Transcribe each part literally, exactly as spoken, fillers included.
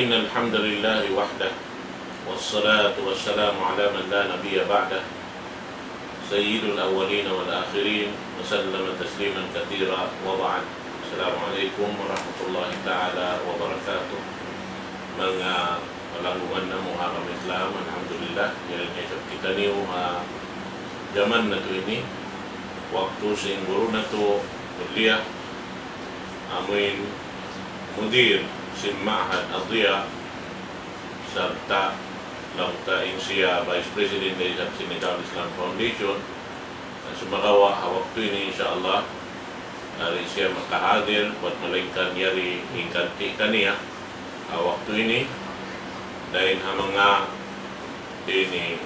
إن الحمد لله وحده، والصلاة والسلام على من لا نبي بعده، سيد الأولين والآخرين، وسلم تسليما كثيرا، وبعد. السلام عليكم ورحمة الله تعالى وبركاته. Manga palanggungan namu' ha agama Islam, alhamdulillah, yari niya isab kitaniyu ha jaman natu' ini, waktu sin guru natu' kulliyah, amuin mudir sin Ma'had Ad-Diya, sarta' laung ta in siya Vice President da isab sin Nizam Islam Foundation. Na sumagawa' ha waktu ini, insya Allah, di' siya makahadir, bat malaingkan yari in ganti' kaniya ha waktu ini, dayn ha manga ini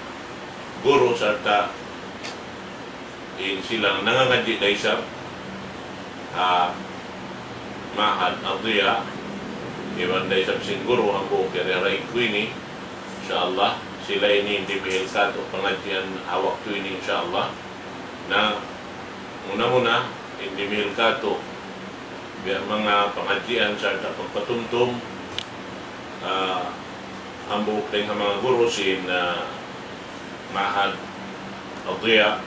guru sarta' in sila nangangadji' da isab ha Ma'had Ad-Diya, iban da isab sin guru hambuuk yari ha raig ku ini, insya Allah, sila ini in dimihil kātu' pangadjian ha waktu ini, insya Allah. Na muna-muna, in dimihil kātu' biya' manga pangadjian sarta' pagpatumtum, ah, hambuuk dayn ha manga guru sin, ah, Ma'had Ad-Diya,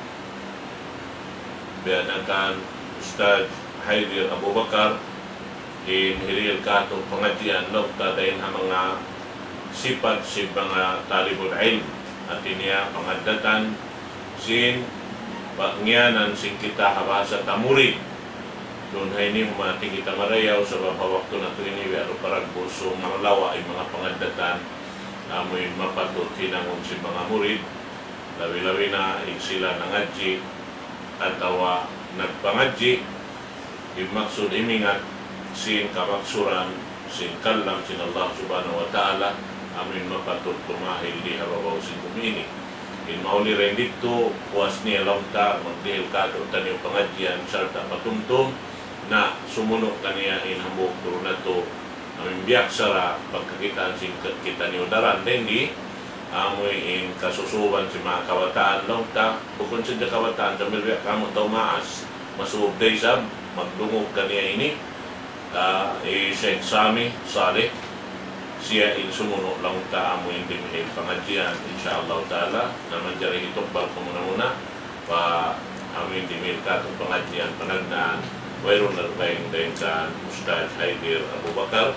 biya' na kan Ustadz Haidir Abu Bakar, in hirihil kātu' pangadjian laung ta dayn ha manga sipat sin manga talibul ilm, hati niya pangaddatan sin pangiyanan sin kita ha bahasa ta murid. Duun ha ini humati kita marayaw sabab ha waktu natu' ini biya' da paragbusu malawa' in manga pangaddatan, amuin mapatut hinangun sin manga murid, labi-labi na in sila nangadji' atawa nagpangadji', in maksud imingat sin kamaksuran sin kalam sin Allah Subhanahu wa Ta'ala, amuin mapatut tumahil di ha babaw sin bumi ini. In mahuli dayn didtu, puas niya laung ta, magdihil kātu'niyu pangadjian sarta' patumtum, na sumunu' kaniya in hambuuk guru natu', amuin biyaksara pagkakitaan sin ka-, kitaniyu daran dayn di, amuin kasusuban sin manga kabataan laung ta, bukun sadja kabataan, sambil biya' kamu tau maas, masubay isab, magdungug kaniya ini, ah, hi Sheikh Sami Saleh, siya in sumunu' laung ta amuin dimihil pangadjian, insya Allah Ta'ala, na manjari hitukbal ku muna-muna, pa amuin dimihil kātu' pangadjian panagnaan, wayruun na dugaing dayn kan Ustadz Haidir Abu Bakar,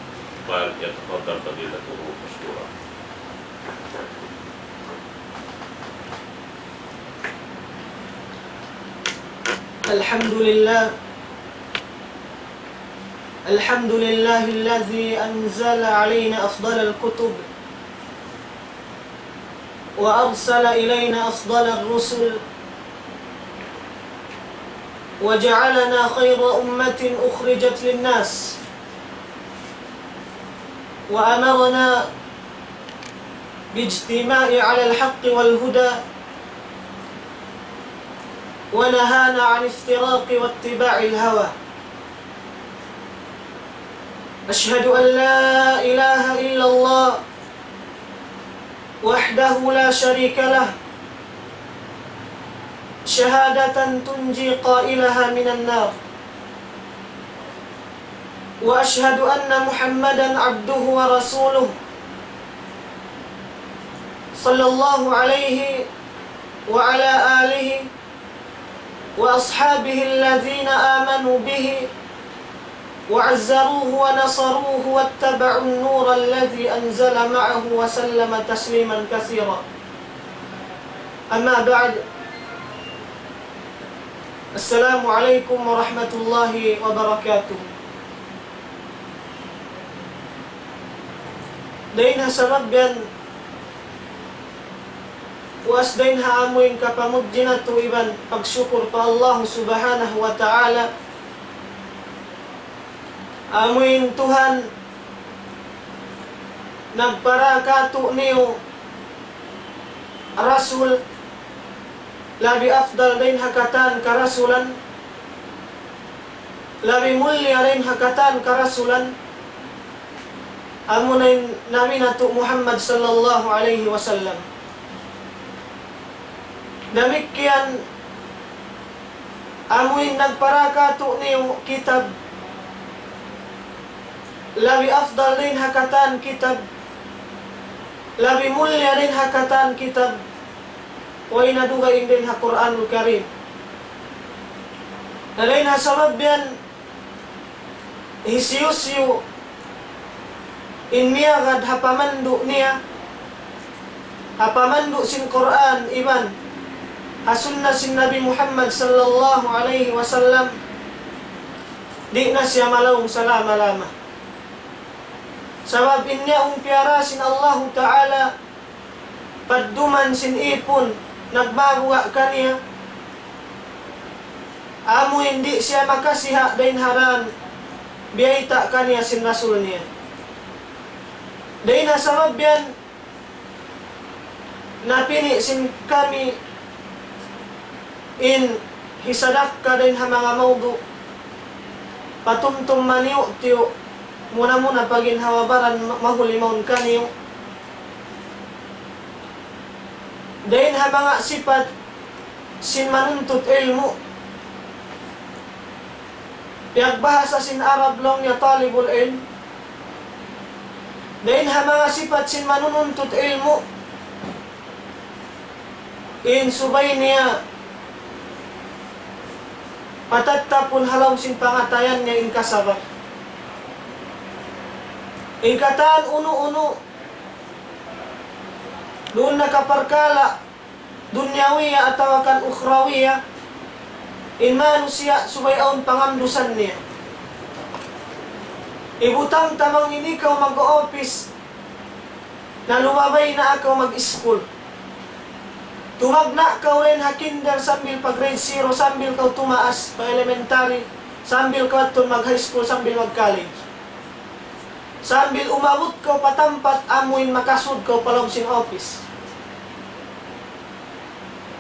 فليتفضل فضيلته مشكورا. الحمد لله. الحمد لله الذي أنزل علينا أفضل الكتب وأرسل إلينا أفضل الرسل وجعلنا خير أمة أخرجت للناس وأمرنا باجتماع على الحق والهدى ونهانا عن افتراق واتباع الهوى. أشهد أن لا إله إلا الله وحده لا شريك له شهادة تنجي قائلها من النار، وأشهد أن محمدا عبده ورسوله صلى الله عليه وعلى آله وأصحابه الذين آمنوا به وعزروه ونصروه واتبعوا النور الذي أنزل معه وسلم تسليما كثيرا. أما بعد، السلام عليكم ورحمة الله وبركاته. Dayn ha sabab yan, puas dayn ha amuin kapamudji natu' iban pagsukur pa Allah Subhanahu wa Ta'ala. Amuin Tuhan nagpara kātu'niyu rasul, labi afdal dayn ha katan karasulan, labi mulia dayn ha katan karasulan, amuna in Nabi natu' Muhammad sallallahu alayhi wasallam. Damikkiyan amuin nagpara kātu'niyu kitab, labi afdal dayn ha katan kitab, labi mulia dayn ha katan kitab, way na dugaing dayn ha Qur'anul Karim. Na dayn ha sabab yan, hisiyu-siyu in miyagad ha pamandu' niya, ha pamandu' sin Qur'an iban ha sunnah sin Nabi Muhammad sallallahu alayhi wasallam, di' na siya malaung salama-lama. Sabab in niya umpiara sin Allahu Ta'ala, padduman sin ipun nagmabuga' kaniya, amu in di' siya makasiha' dayn ha dan biyayta' kaniya sin Rasul niya. Dayn ha sabab yan, napini' sin kami in hisadakka dayn ha manga mawdu', patumtum maniyu'-tiyu', muna-muna pa ginhawa-baran ma-, mahuli mawn kaniyu. Dayn ha manga sipat sin manuntut ilmu'. Piyagbahasa sin Arab laung niya talibul ilm. Dayn ha manga sipat sin manununtut ilmu', in subay niya patattapun ha lawm sin pangatayan niya in kasabar. In katan unu-unu duun na ka parkala' dunyawiya atawa kan ukhrawiya, in manusiya' subay awn pangandusan niya. Ibutang ta bang ini kaw mag-office, na lumabay na kaw mag-school. Tumagna' kaw dayn ha kinder sambil pa grade zero, sambil kaw tumaas pa elementary, sambil kaw adtu mag-high school, sambil mag-college. Sambil umabut kaw pa tampat amuin makasud kaw pa lawm sin office.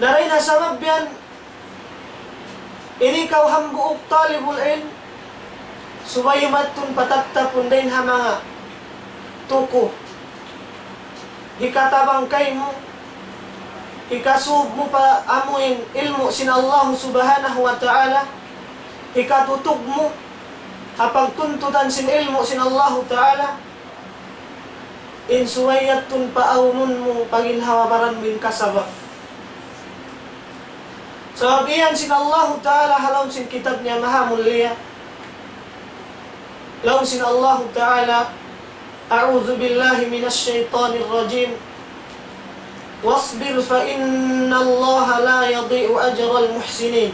Na dayn ha sabab yan, ini kaw hambuuk talibul ilm, subay mattun patattapun dayn ha manga tuku. Hikatabang kaymu, hikasub mu pa amuin ilmu' sin Allah Subhanahu wa Ta'ala, hikatutug mu ha pagtuntutan sin ilmu' sin Allahu Ta'ala, in subay yadtu in paawnun mu pa ginhawa-baran mu in kasaba'. Sabab iyan sin Allahu Ta'ala ha lawm sin kitab niya maha mulia. Laung sin Allahu Ta'ala, أعوذ بالله من الشيطان الرجيم. واصبر فإن الله لا يضيع أجر المحسنين.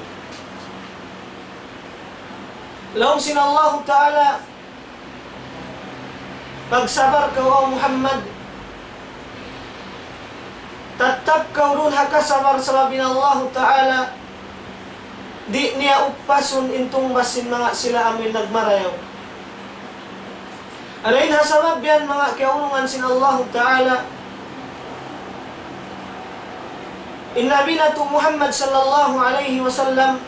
Laung sin Allahu Ta'ala, pagsabar kaw, O Muhammad. Tattap kaw duun ha kasabar sabab in Allahu Ta'ala di' niya upasun in tungbas sin manga sila amuin nagmarayaw. Dayn ha sabab yan manga kiyaulungan sin Allahu Ta'ala, in Nabi natu' Muhammad sallallahu alayhi wasallam,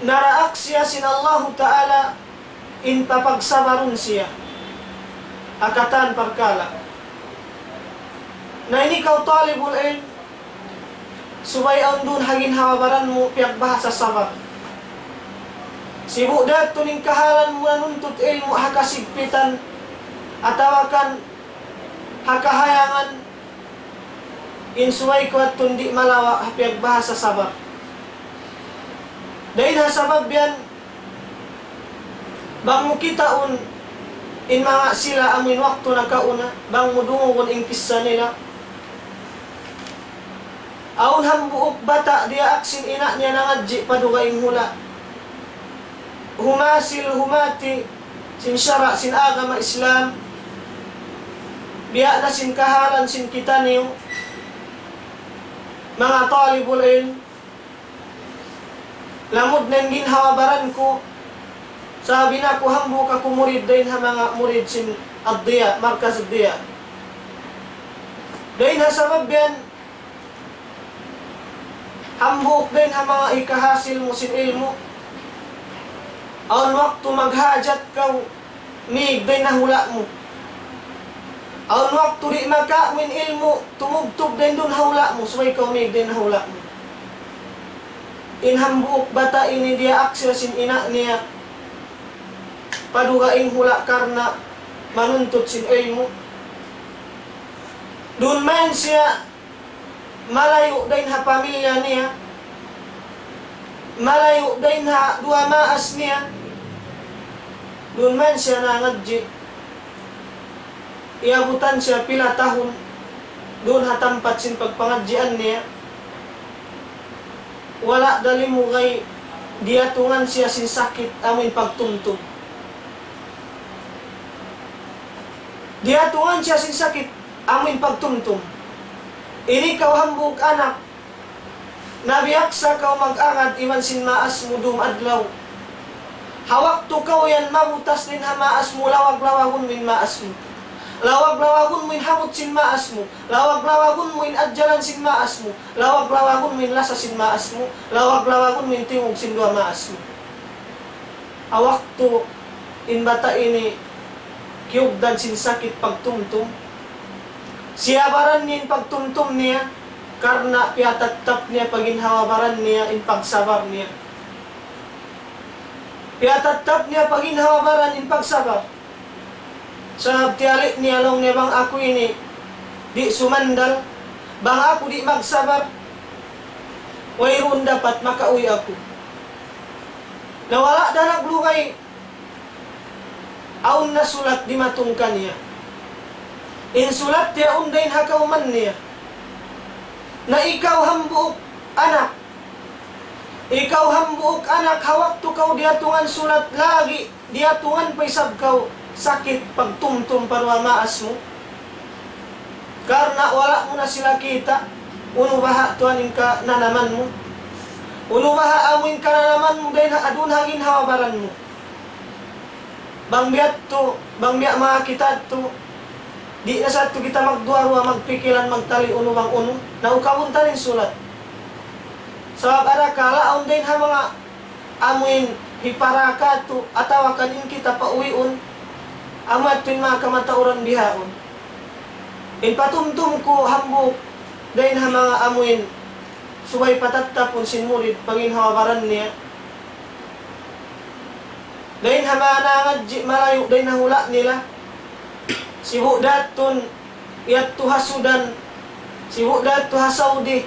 naraak siya sin Allahu Ta'ala in papagsabarun siya ha katan parkala'. Na ini kaw talibul ilm, subay awn duun ha ginhawa-baran mu piyagbahasa sabar. Sibu' da yadtu in kahalan mu nanuntut ilmu' ha kasigpitan atawa kan ha kahayangan, in subay kaw yadtu di' malawa' ha piyagbahasa sabar. Dayn ha sabab yan, bang mu kitaun in manga sila amuin waktu nakauna, bang mu dungugun in kissa nila. Awn hambuuk bata' diyaak sin ina' niya nangadji' pa dugaing hula'. Humasil humati sin sara' sin agama Islam, biya' na sin kahalan sin kitaniyu, manga talibul ilm, lamud na in ginhawa-baran ku, sabab in aku hambuuk aku murid dayn ha manga murid sin Ad-Diya, Markaz Ad-Diya. Dayn ha sabab yan, hambuuk dayn ha manga hikahasil mu sin ilmu'. Awn waktu maghajat kaw, mīg dayn ha hula' mu. Awn waktu di' makawa' mu in ilmu', tumubtub dayn duun ha hula' mu, subay kaw mīg dayn ha hula' mu. In hambuuk bata' ini diyaak siya sin ina' niya. pa dugaing hula' karna' manuntut sin ilmu'. Duun mayan siya malayu' dayn ha pamilya niya, malayu' dayn ha duwa maas niya. Duun mayan siya nangadji'. Iyabutan siya pila tahun duun ha tampat sin pagpangadjian niya. Wala' da limugay, diyatungan siya sin sakit amuin pagtumtum. Diyatungan siya sin sakit amuin pagtumtum. Ini kaw hambuuk anak, nabiyaksa kaw mag-agad iban sin maas mu dum adlaw. Ha waktu kaw yan mabutas dayn ha maas mu, lawag-lawagun mu in maas mu. Lawag-lawagun mu in habut sin maas mu. Lawag-lawagun mu in adjalan sin maas mu. Lawag-lawagun mu in lasa sin maas mu. Lawag-lawagun mu in tingug sin duwa maas mu. Ha waktu in bata' ini kiyugdan sin sakit pagtumtum, siyabaran niya in pagtumtum niya, karna' piyatattap niya pa ginhawa baran niya in pagsabar niya. Piyatattap niya pa ginhawa baran in pagsabar. Sabab tiyali' niya laung niya, bang aku ini di' sumandal, bang aku di' magsabar, wayruun dapat makauwi' aku. Na wala' da naglugay, awn na sulat dimatung kaniya. In sulat yaun dayn ha kawman niya. Na ikaw hambuuk anak, ikaw hambuuk anak, ha waktu kaw diyatungan sulat lagi', diyatungan pa isab kaw sakit pagtumtum pa duwa maas mu. Karna' wala' mu na sila kita', unu baha' tuwan in kananaman mu. Unu baha' amu in kananaman mu dayn ha adun ha ginhawa baran mu. Bang biya' tu, bang biya' manga kita tu, di' na sa tu kita magduwa-ruwa, magpikilan, magtali unu bang unu, na ukabun ta in sulat. Sabab arakala' awn dayn ha manga amuin hipara katu', atawa kan in kita pauwiun, amu yadtu in manga kamatauran bihaun. In patumtum ku hambuuk dayn ha manga amuin subay patattapun sin murid pa ginhawa baran niya. Dayn ha manga nangadji' malayu' dayn ha hula' nila. Sibu' da yadtu yadtu ha Sudan, sibu' da yadtu ha Saudi,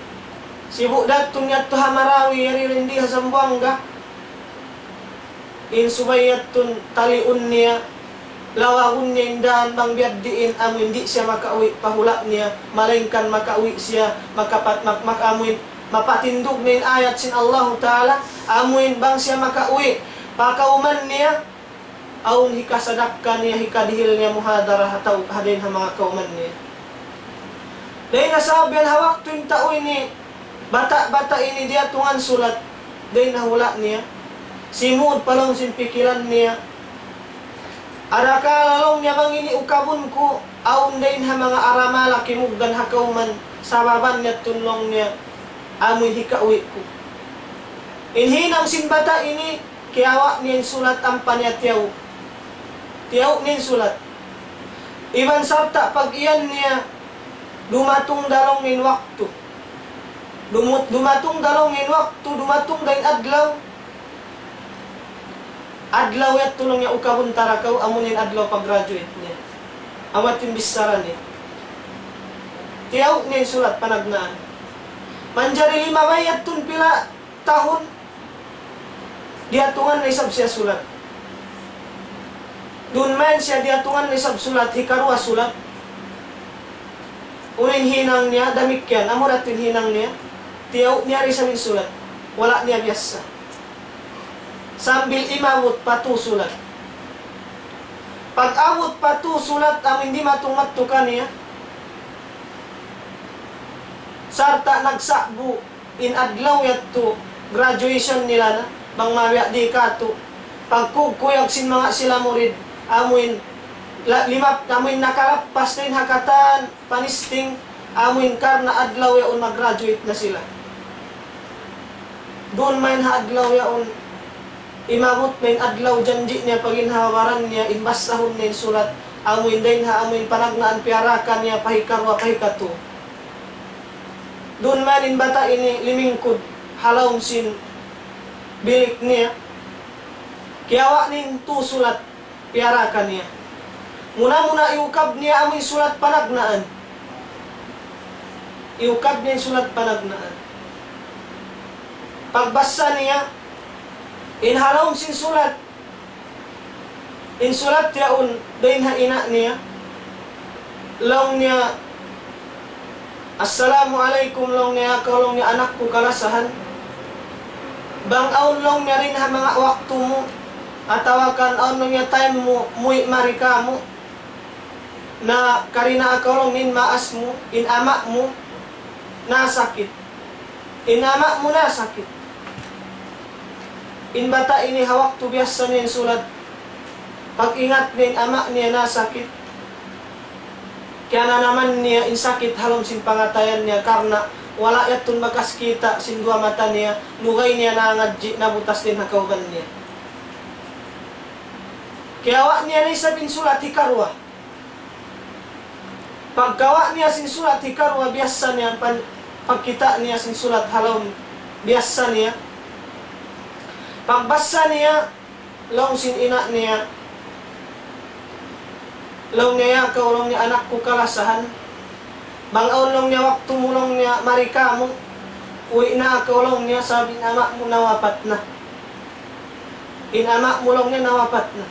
sibu' da yadtu yadtu ha Marawi, yari dindi ha Zamboanga. In subay yadtu taliun niya, lawagun niya in dān bang biya' diin amu in di' siya makauwi' pa hula' niya, malaingkan makauwi' siya, makapat-, mak-, mak-, amu in mapatindug niya in ayat sin Allahu Ta'ala, amu in bang siya makauwi' pa kawman niya, awn hikasadakka niya, hikadihil niya muhadara ha tau, ha dayn ha manga kawman niya. Dayn ha sabab yan ha waktu in tau ini, bata'-bata' ini diyatungan sulat, dayn ha hula' niya, simud pa lawm sin pikilan niya. Arakala' laung niya bang ini ukabun ku, awn dayn ha manga aramala kimugdan ha kawman, sababan niya tunlung niya, amu in hikauwi' ku. In hinang sin bata' ini, kiyawa' niya in sulat ampa niya tiyaw-, tiyaw' niya in sulat. Iban sarta' pag-iyan niya, dumatung da laung niya in waktu. Dumut-, dumatung da laung niya in waktu, dumatung da in adlaw. Adlaw yadtu laung niya ukabun ta ra kaw, amu in adlaw pag-graduate niya. Amu yadtu in bichara niya. Tiyaw' niya in sulat panagnaan. Manjari limabay yadtu in pila tahun, diyatungan na isab siya sulat. Duun mayan siya diyatungan na isab sulat, hikaruwa sulat. Unu in hinang niya, damikkiyan, amu ra in hinang niya, tiyaw' niya da isab in sulat. Wala' niya biyassa. Sambil imabut pa tū sulat. Pag-abut pa tū sulat, amu in dimatung madtu kaniya, sarta' nagsa'bu in adlaw yadtu graduation nila na, bang mabiya' di katu'. Pagkukuyag sin manga sila murid, amu in la-, limap-, amu in nakalappas na in ha katan panisting, amu in karna' adlaw yaun mag-graduate na sila. Duun mayan ha adlaw yaun, imabut na in adlaw janji' niya pa ginhawa-baran niya, in basahun niya in sulat, amu in dayn ha, amu in panagnaan piyarakan niya, pa hikaruwa, pa hikatū. Duun mayan in bata' ini limingkud ha lawm sin bilik niya. Kiyawa' niya in tū sulat. piyara kaniya. Muna-muna iyukab niya amu in sulat panagnaan. Iyukab niya in sulat panagnaan. Pagbasa niya, in ha lawm sin sulat, in sulat yaun dayn ha ina' niya, laung niya, "Assalamu alaykum," laung niya, "kaw," laung niya, "anak ku kalasahan. Bang awn," laung niya, "dayn ha manga waktu mu, atawa kan awn," laung niya, "time mu, muwi' mari kāmu', na karina' kaw," laung niya, "in maas mu, in ama' mu, nasakit. In ama' mu nasakit." In bata' ini ha waktu biyasa niya in sulat, pag-ingat niya in ama' niya nasakit, kiyananaman niya in sakit ha lawm sin pangatayan niya, karna' wala' yadtu bakas kita' sin duwa mata niya, lugay niya nangadji', nabutas dayn ha kauban niya. Kiyawa' niya na isab in sulat hikaruwa. Pagkawa' niya sin sulat hikaruwa, biyasa niya pan-, pagkita' niya sin sulat ha lawm biyasa niya. Pagbasa niya, laung sin ina' niya, laung niya, "Ya kaw," laung niya, "anak ku kalasahan. Bang awn," laung niya, "waktu mu," laung niya, "mari kāmu', uwi' na kaw," laung niya, "sabab in ama' mu nawapat na. In ama' mu," laung niya, "nawapat na."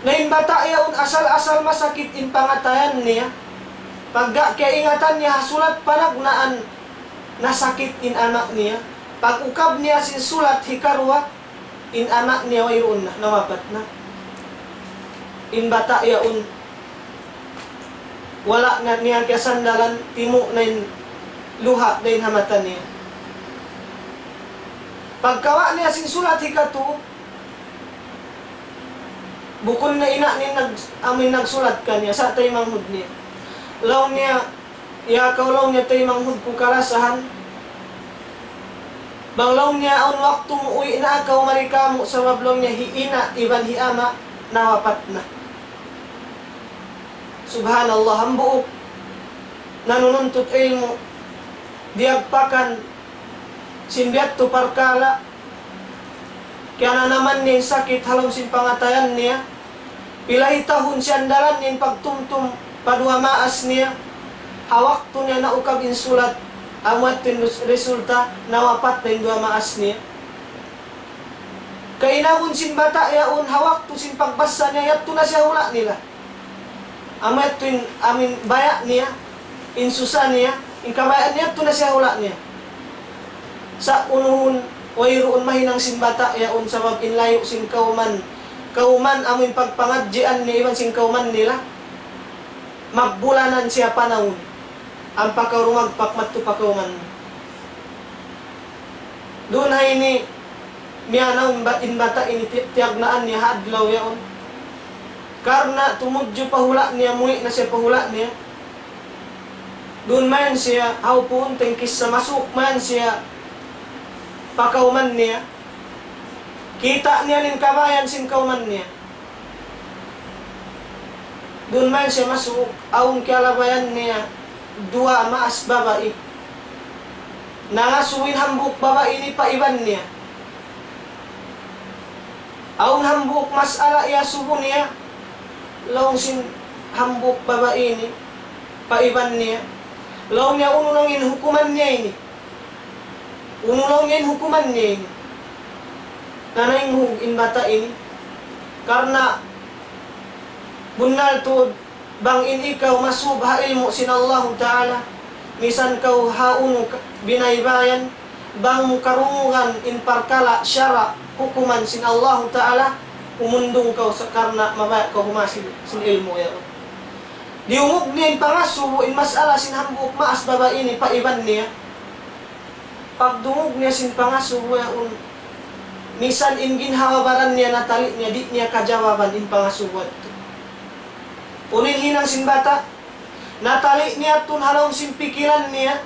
Na in bata' yaun asal-asal masakit in pangatayan niya. Pagga kiyaingatan niya ha sulat panagnaan, nasakit in ama' niya. Pag-ukab niya sin sulat hikaruwa, in ama' niya wayruun na, nawapat na. In bata' yaun, wala' na niya kiyasandalan, timu' na in luha' dayn ha mata niya. Pagkawa' niya sin sulat hikatu, bukun na ina' niya nag-, amu in nagsulat kaniya, sa' taymanghud niya. Laung niya, "Ya kaw," laung niya, "taymanghud ku kalasahan. Bang," laung niya, "awn waktu mu, uwi' na kaw mari kāmu', sabab," laung niya, "hi ina' iban hi ama' nawapat na." Subhanallah, hambuuk nanununtut ilmu', diyagpakan sin biya' yadtu parkala', kiyananaman niya in sakit ha lawm sin pangatayan niya, pila hi tahun siyandalan niya in pagtumtum pa duwa maas niya, ha waktu niya naukab in sulat, amu yadtu in res-, resulta, nawapat na in duwa maas niya. Kainagun sin bata' yaun, ha waktu sin pagbasa niya, yadtu na siya hula' nila. Amu yadtu in, amu in baya' niya, in susa niya, in kabaya' niya, yadtu na siya hula' niya. Sa' unuhun, wayruun mahinang sin bata' yaun, sabab in layu' sin kawman, kawman amu in pagpangadjian niya iban sin kawman nila. Magbulanan siya panawun. Ampa kaw rumagpak madtu pa kawman mu. Duun ha ini, miyanaw in ba-, in bata' ini ti-, tiyagnaan niya ha adlaw yaun. Karna' tumudju pa hula' niya, muwi' na siya pa hula' niya. Duun mayan siya, hawpuun ta in kissa, masuuk mayan siya pa kawman niya. Kita' niya in kabayan sin kawman niya. Duun mayan siya masuuk, awn kiyalabayan niya duwa maas babai. Nangasubu in hambuuk babai ini pa iban niya. Awn hambuuk mas'ala iyasubu niya, laung sin hambuuk babai ini pa iban niya. Laung niya, "Unu laung in hukuman niya ini? Unu laung in hukuman niya ini?" Nanaynghug in bata' ini. Karna' bunnal tuud, bang in ikaw masub ha ilmu' sin Allahu Ta'ala, misan kaw ha unu ka-, binaybayan, bang mu karungugan in parkala' sara' hukuman sin Allahu Ta'ala, humundung kaw sa karna' mabaya' kaw humasil sin ilmu' yaun. Diyungug niya in pangasubu, in mas'ala sin hambuuk maas babai ini pa iban niya. Pagdungug niya sin pangasubu yaun, misan in ginhawa-baran niya natali' niya, di' niya kajawaban in pangasubu yadtu. Unu in hinang sin bata'? Natali' niya tuud ha lawm sin pikilan niya,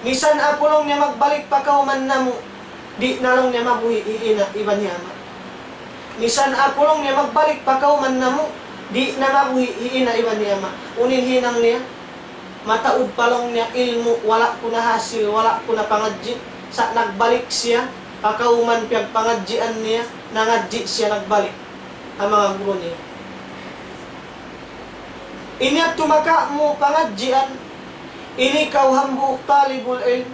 "Misan aku," laung niya, "magbalik pa kawman namu', di' na," laung niya, "mabuhi' hi ina' iban hi ama'. Misan aku," laung niya, "magbalik pa kawman namu', di' na mabuhi' hi ina' iban hi ama'." Unu in hinang niya? "Mataud pa," laung niya, "ilmu', wala' ku nahasil, wala' ku napangadji'. Sa' nagbalik siya pa kawman piyagpangadjian niya, nangadji' siya nagbalik." ha manga guru niya. Ini yadtu makamu pangadjian, ini kaw hambuuk talibul ilm.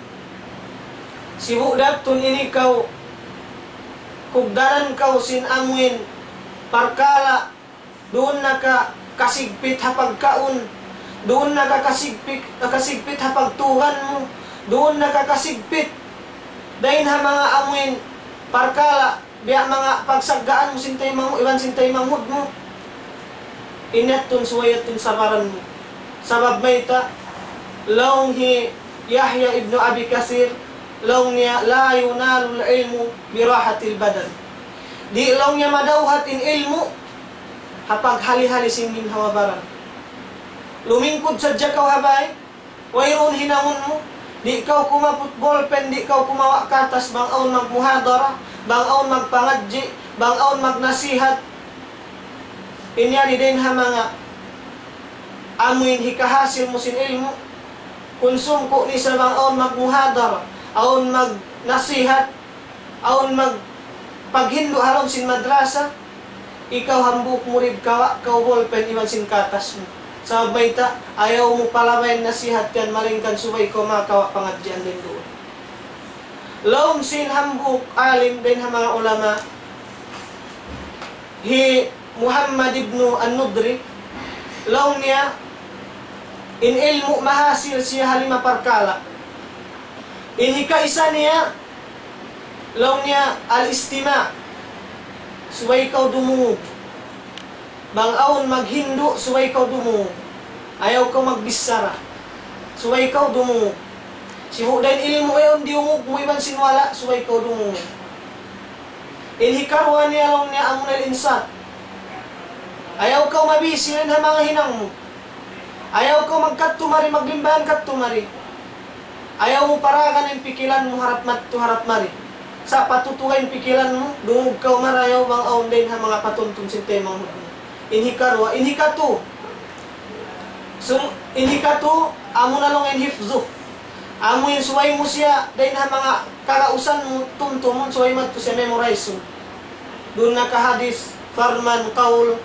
Sibu' da yadtu ini kaw kugdanan kaw sin amuin parkala', duun na ka kasigpit ha pagkaun, duun na ka kasigpit, kasigpit ha pagtugan mu, duun na ka kasigpit dayn ha manga amuin parkala', biya' manga pagsaggaan mu sin taymanghud, iban sin taymanghud mu. Ini yadtu subay yadtu sabaran mu. Sabab mayta', laung hi Yahya ibnu Abi Kathir, laung niya, لا ينال العلم براحة البدن. Di' laung niya madawhat in ilmu' ha paghali-hali sin ginhawa-baran. Lumingkud sadja kaw ha bay, wayruun hinangun mu, di' kaw kumaput ballpen, di' kaw kumawa' katas, bang awn magmuhadara, bang awn magpangadji', bang awn magnasihat. In yari dayn ha manga amuin hikahasil mu sin ilmu', kunsum ku ni sa bang awn magmuhadara, awn magnasihat, awn magpaghindu' ha lawm sin madrasa, ikaw hambuuk murid kawa' kaw ballpen iban sin katas mu. Sabab mayta', ayaw mu palabayan nasihat yan, malaingkan subay kaw makawa' pangadjian dayn duun. Laung sin hambuuk alim dayn ha manga ulama, hi Muhammad ibnu An-Nudri, laung niya, in ilmu' mahasil siya ha lima parkala'. In hikaisa niya, laung niya, al-istima', subay kaw dumungug. Bang awn maghindu', subay kaw dumungug. Ayaw kaw magbichara. Subay kaw dumungug. Sibu' da in ilmu' yaun diyungug mu iban sin wala', subay kaw dumungug. In hikaruwa niya laung niya amuna al-insat. Ayaw kaw mabisi dayn ha manga hinang mu. Ayaw kaw magkadtu mari, maglimbahan kadtu mari. Ayaw mu paragan in pikilan mu harap madtu, harap mari. Sa' patutuga in pikilan mu, dungug kaw marayaw bang awn dayn ha manga patumtum sin taymanghud mu. In hikaruwa, in hikatu. Sum-, in hikatu, amuna laung in hifzu. Amu in subay mu siya, dayn ha manga kagausan mu, tumtumun, subay madtu siya memorize mu. Duun na ka hadis, parman, kaul,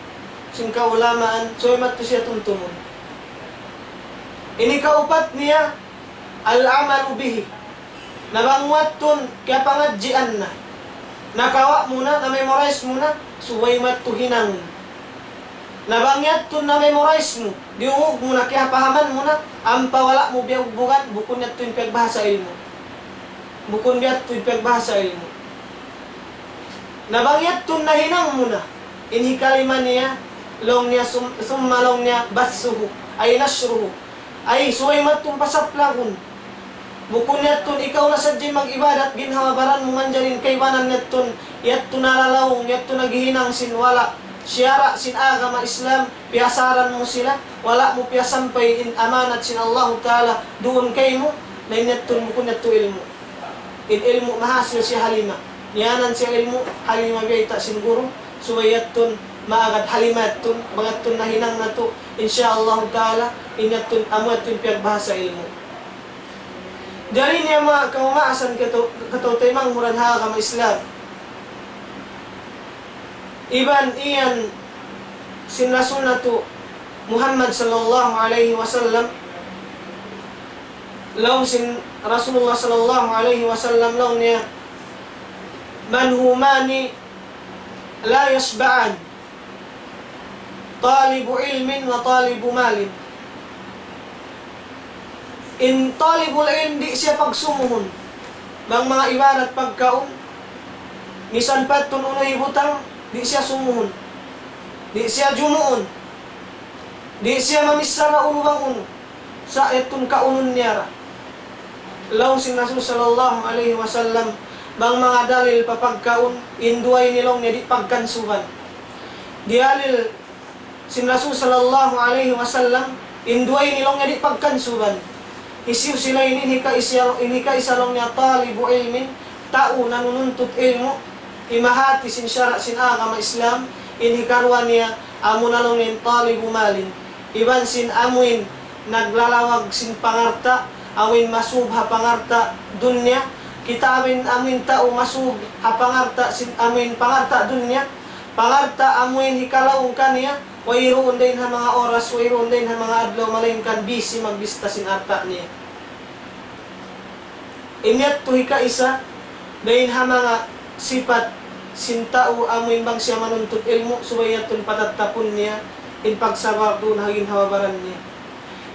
sin kaulamaan, subay madtu siya tumtumun. In hikaupat niya, al-amalu bihi. Na bang mu yadtu kiyapangadjian na, nakawa' mu na, na-memorize mu na, subay madtu hinangun. Na bang yadtu na-memorize mu, diyungug mu na, kiyapahaman mu na, ampa wala' mu biyugbugan, bukun yadtu in piyagbahasa ilmu'. Bukun yadtu in piyagbahasa ilmu'. Na bang yadtu nahinang mu na, in hikalima niya, laung niya sum-, summa laung niya bassuhu, ay nashruhu, ay subay madtu pasaplagun. Bukun yadtu ikaw na sadja mag-ibadat, ginhawa-baran mu manjari in kaibanan yadtu, yadtu nalalaung, yadtu naghihinang sin wala', siyara' sin agama Islam, piyasaran mu sila, wala' mu piyasampay in amanat sin Allahu Ta'ala duun kaymu, na in yadtu bukun yadtu ilmu'. In ilmu' mahasil siya ha lima. Niyanan siya ilmu', ha lima biyayta' sin guru, subay yadtu maagad ha lima yadtu, bang yadtu nahinang natu', insya Allahu Ta'ala, in yadtu, amu yadtu in piyagbahasa ilmu'. Jari niya manga kaumaasan katu-, kataw-taymanghuran ha agama Islam. Iban iyan sin Rasul natu' Muhammad sallallahu alayhi wasallam, laung sin Rasulullah sallallahu alayhi wasallam, laung niya, منهومان لا يشبعان، طالب علم وطالب مال. In talibul ilm di' siya pagsumuhun. Bang manga ibarat pagkaun, misan pa yadtu unu hibutang, di' siya sumuhun. Di' siya jumuun. Di' siya mamichara unu bang unu. Sa' yadtu kaunun niya ra. Laung sin Rasul sallallahu alayhi wasallam, bang manga dalil pa pagkaun, in duwa ini laung niya di' pagkansuban. Diyalil sin Rasul sallallahu alayhi wasallam, in duwa ini laung niya di' pagkansuban. Hisiyu sila ini? In hikaisa, in hikaisa laung niya talibu ilmin, tau nanununtut ilmu', himahati sin sara' sin agama Islam. In hikaruwa niya, amuna laung niya in talibu malin. Iban sin amuin naglalawag sin pangalta', amuin masub ha pangalta' dunya. Kita' amuin, amuin tau masub ha pangalta' sin, amuin pangalta' dunya. Pangalta' amuin hikalaung kaniya, wayruun dayn ha manga oras, wayruun dayn ha manga adlaw, malaingkan busy magbista sin alta' niya. In yadtu hikaisa, dayn ha manga sipat sin tau amuin bang siya manuntut ilmu', subay yadtun patattapun niya in pagsabar duun ha ginhawa-baran niya.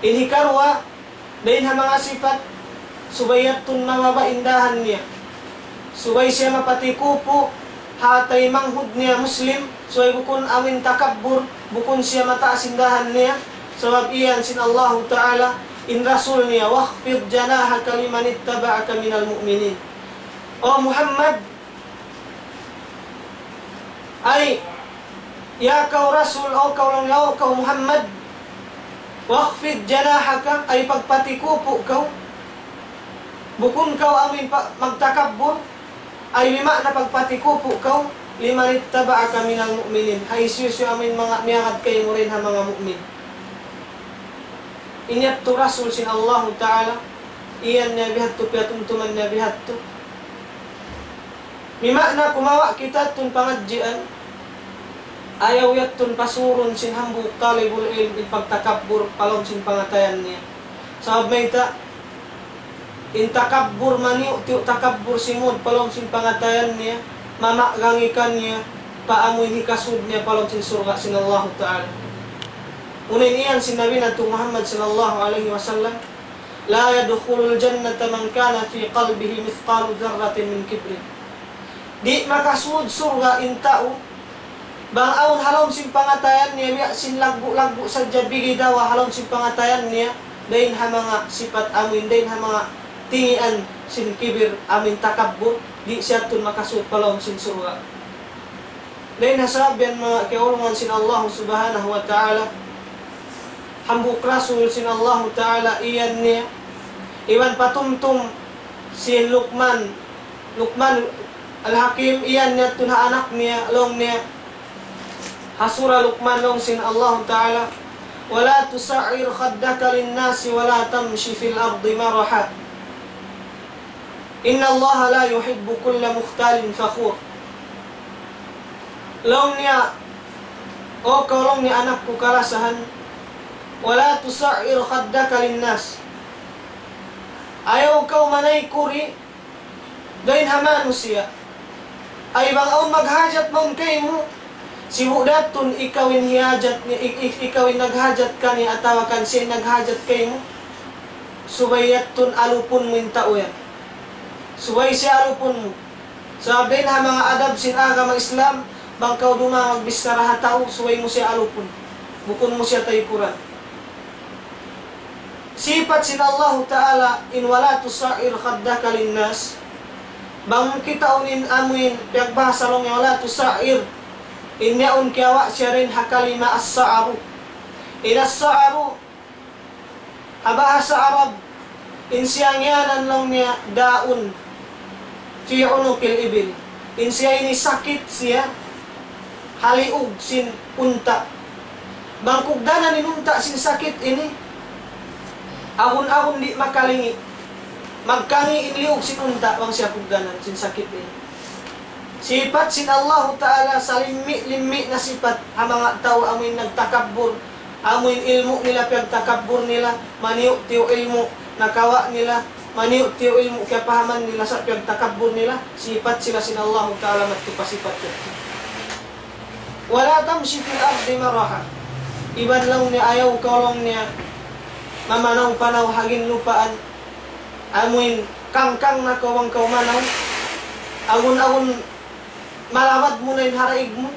In hikaruwa, dayn ha manga sipat, subay yadtun mababa' in dahan niya. Subay siya mapatikupu' ha taymanghud niya Muslim, subay bukun amuin takabbur, bukun siya mataas in dahan niya, sabab iyan sin Allahu Ta'ala, in Rasul niya, واخفض جناحك لمن اتبعك من المؤمنين. O Muhammad, ay, ya kaw Rasul, o kaw laung niya, o kaw Muhammad, واخفض جناحك, ay pagpatikupu' kaw, bukun kaw amuin pa-, magtakabbur, ay bima'na pagpatikupu' kaw, لمن اتبعك من المؤمنين, ha hisiyu-siyu amuin manga miyagad kaymu dayn ha manga mu'min. In yadtu Rasul sin Allahu Ta'ala, iyan niya bihadtu, piyatumtuman niya bihadtu. Bima'na kumawa' kita yadtun pangadjian, ayaw yadtun pasurun sin hambuuk talibul ilm in pagtakabbur pa lawm sin pangatayan niya. Sabab mayta', in takabbur, maniyu'-tiyu' takabbur simud pa lawm sin pangatayan niya, mamagangi kaniya pa amuin hikasud niya pa lawm sin surga' sin Allahu Ta'ala. Unu in iyan sin Nabi natu' Muhammad sallallahu alayhi wasallam, لا يدخل الجنة من كان في قلبه مثقال ذرة من كبر. Di' makasud surga' in tau, bang awn ha lawm sin pangatayan niya, biya' sin laggu'-laggu' sadja bigidawa ha lawm sin pangatayan niya, dayn ha manga sipat amuin, dayn ha manga tingian sin kibir amuin takabbur, di' siya yadtun makasud pa lawm sin surga'. Dayn ha sabab yan manga kiyaulungan sin Allahu Subhanahu wa Ta'ala, hambuuk Rasul sin Allahu Ta'ala iyan niya, iban patumtum sin Luqman, Luqman Al-Hakim, iyan niya yadtun ha anak niya, laung niya, ha Surah Luqman laung sin Allahu Ta'ala, ولا تصعر خدك للناس ولا تمش في الأرض مرحا إن الله لا يحب كل مختال فخور. Laung niya, o kaw laung niya anak ku kalasahan, ولا تصعر خدك للناس. Ayaw kaw manaykuri dayn ha manusiya'. Ay bang awn maghajat mawn kaymu, sibu' da yadtun ikaw in hiyajat ni-, ik-, ik-, ikaw in naghajat kaniya atawa kan siya in naghajat kaymu, subay yadtun alupun mu in tau yan. Subay siya alupun mu. Sabab dayn ha manga adab sin agama Islam, bang kaw dumā magbichara ha tau, subay mu siya alupun. Bukun mu siya taykuran. Sipat sin Allahu Ta'ala in ولا تصعر خدك للناس. Bang kitaun in amuin piyagbahasa laung niya ولا تصعر, in yaun kiyawa' siya dayn ha kalima as-sa'ru. In as-sa'ru, ha bahasa Arab, in siya ngiyanan laung niya داء في عنق الإبل. In siya ini sakit siya ha liug sin unta'. Bang kugdanan in unta' sin sakit ini, agun-agun di' makalingi'. Magkangi' in liug sin unta' bang siya kugdanan sin sakit ini. Sipat sin Allahu Ta'ala, salimmi'-limmi' na sipat ha manga tau amuin nagtakabbur, amuin ilmu' nila piyagtakabbur nila, maniyu'-tiyu' ilmu' nakawa' nila, maniyu'-tiyu' ilmu' kiyapahaman nila sa' piyagtakabbur nila, sipat sila sin Allahu Ta'ala madtu pa sipat yadtu. ولا تمش في الأرض مرحا. Iban laung niya ayaw kaw laung niya mamanaw-panaw ha ginlupaan, amuin kangkang na kaw bang kaw manaw, agun-agun malabad mu na in haraig mu,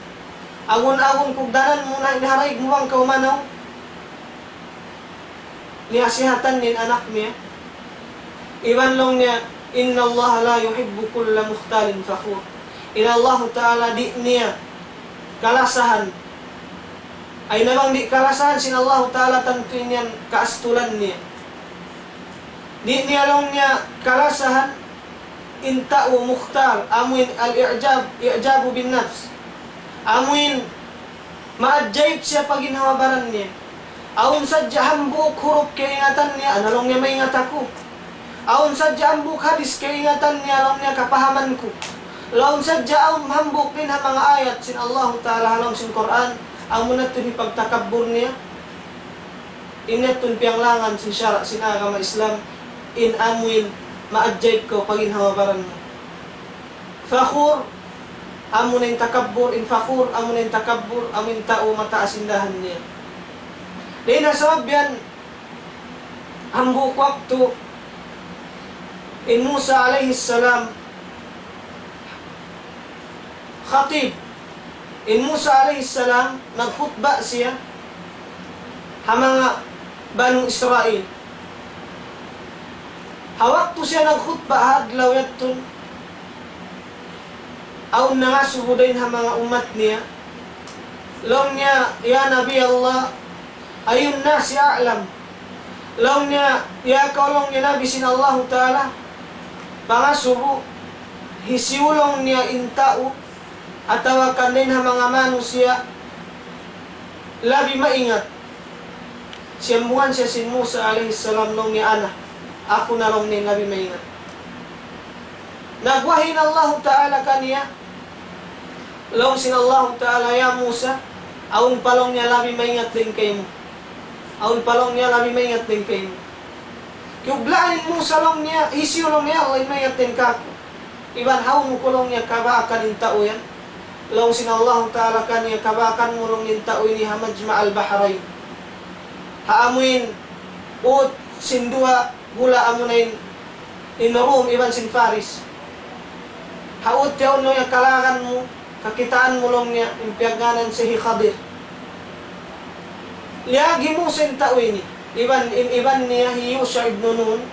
agun-agun kugdanan mu na in haraig mu bang kaw manaw. Niyasihatan niya in anak niya. Iban laung niya, إن الله لا يحب كل مختال فخور. In Allahu Ta'ala di' niya kalasahan. Ay na bang di' kalasahan sin Allahu Ta'ala, tantu in yan kaastulan niya. Di' niya laung niya kalasahan in tau mukhtal, amuin al-i'jab, i'jabu bin nafs. Amuin maajayib siya pa ginhawa-baran niya. Awn sadja hambuuk hurup kaingatan niya, ana laung niya maingat aku. Awn sadja hambuuk hadis kaingatan niya, laung niya kapahaman ku. Laung sadja awn hambuuk dayn ha manga ayat sin Allahu Ta'ala ha lawm sin Qur'an, amu na tuud in pagtakabbur niya, in yadtu in piyanglangan sin sara' sin agama Islam, in amuin maajaib kaw pag'in ha baran mu. Fakhur, amu na in takabbur, in fakhur, amu na in takabbur, amu in tau mataas in dahan niya. Dayn ha sabab yan, hambuuk waktu, in Musa alayhi salam, khatib, in Musa alayhi salam, nagkhutba siya, ha manga Banu Israil. Ha waktu siya nagkhutba ha adlaw yadtu, awn nangasubu dayn ha manga ummat niya. Laung niya, "Ya Nabi Allah, ayyun nasi a'lam?" Laung niya, "Ya kaw," laung niya, "Nabi sin Allahu Ta'ala, pangasubu, hisiyu," laung niya, "in tau, atawa kan dayn ha manga manusiya', labi maingat?" Siyambungan siya sin Musa alayhi salam, laung niya, "Ana, aku na," laung niya, "in labi maingat." Nagwahi in Allahu Ta'ala kaniya, laung sin Allahu Ta'ala, "Ya Musa, awn pa," laung niya, "labi maingat dayn kaymu. Awn pa," laung niya, "labi maingat dayn kaymu." Kiyublaan in Musa, laung niya, "Hisiyu," laung niya, "Allah, in maingat dayn kāku'? Iban hawnu ku," laung niya, "kabaakan in tau yan?" Laung sin Allahu Ta'ala kaniya, "Kabaakan mu," laung niya, "in tau ini ha Majma' al-Bahrain." Ha amuin ut sin duwa hula' amuna in, in Rum iban sin Faris. Ha ut yaun, laung niya, "Kalagan mu, kakitaan mu," laung niya, "in piyagngānan siya hi Khadir." Liyagi hi Musa in tau ini, iban, in iban niya hi Yusha ibn Nun.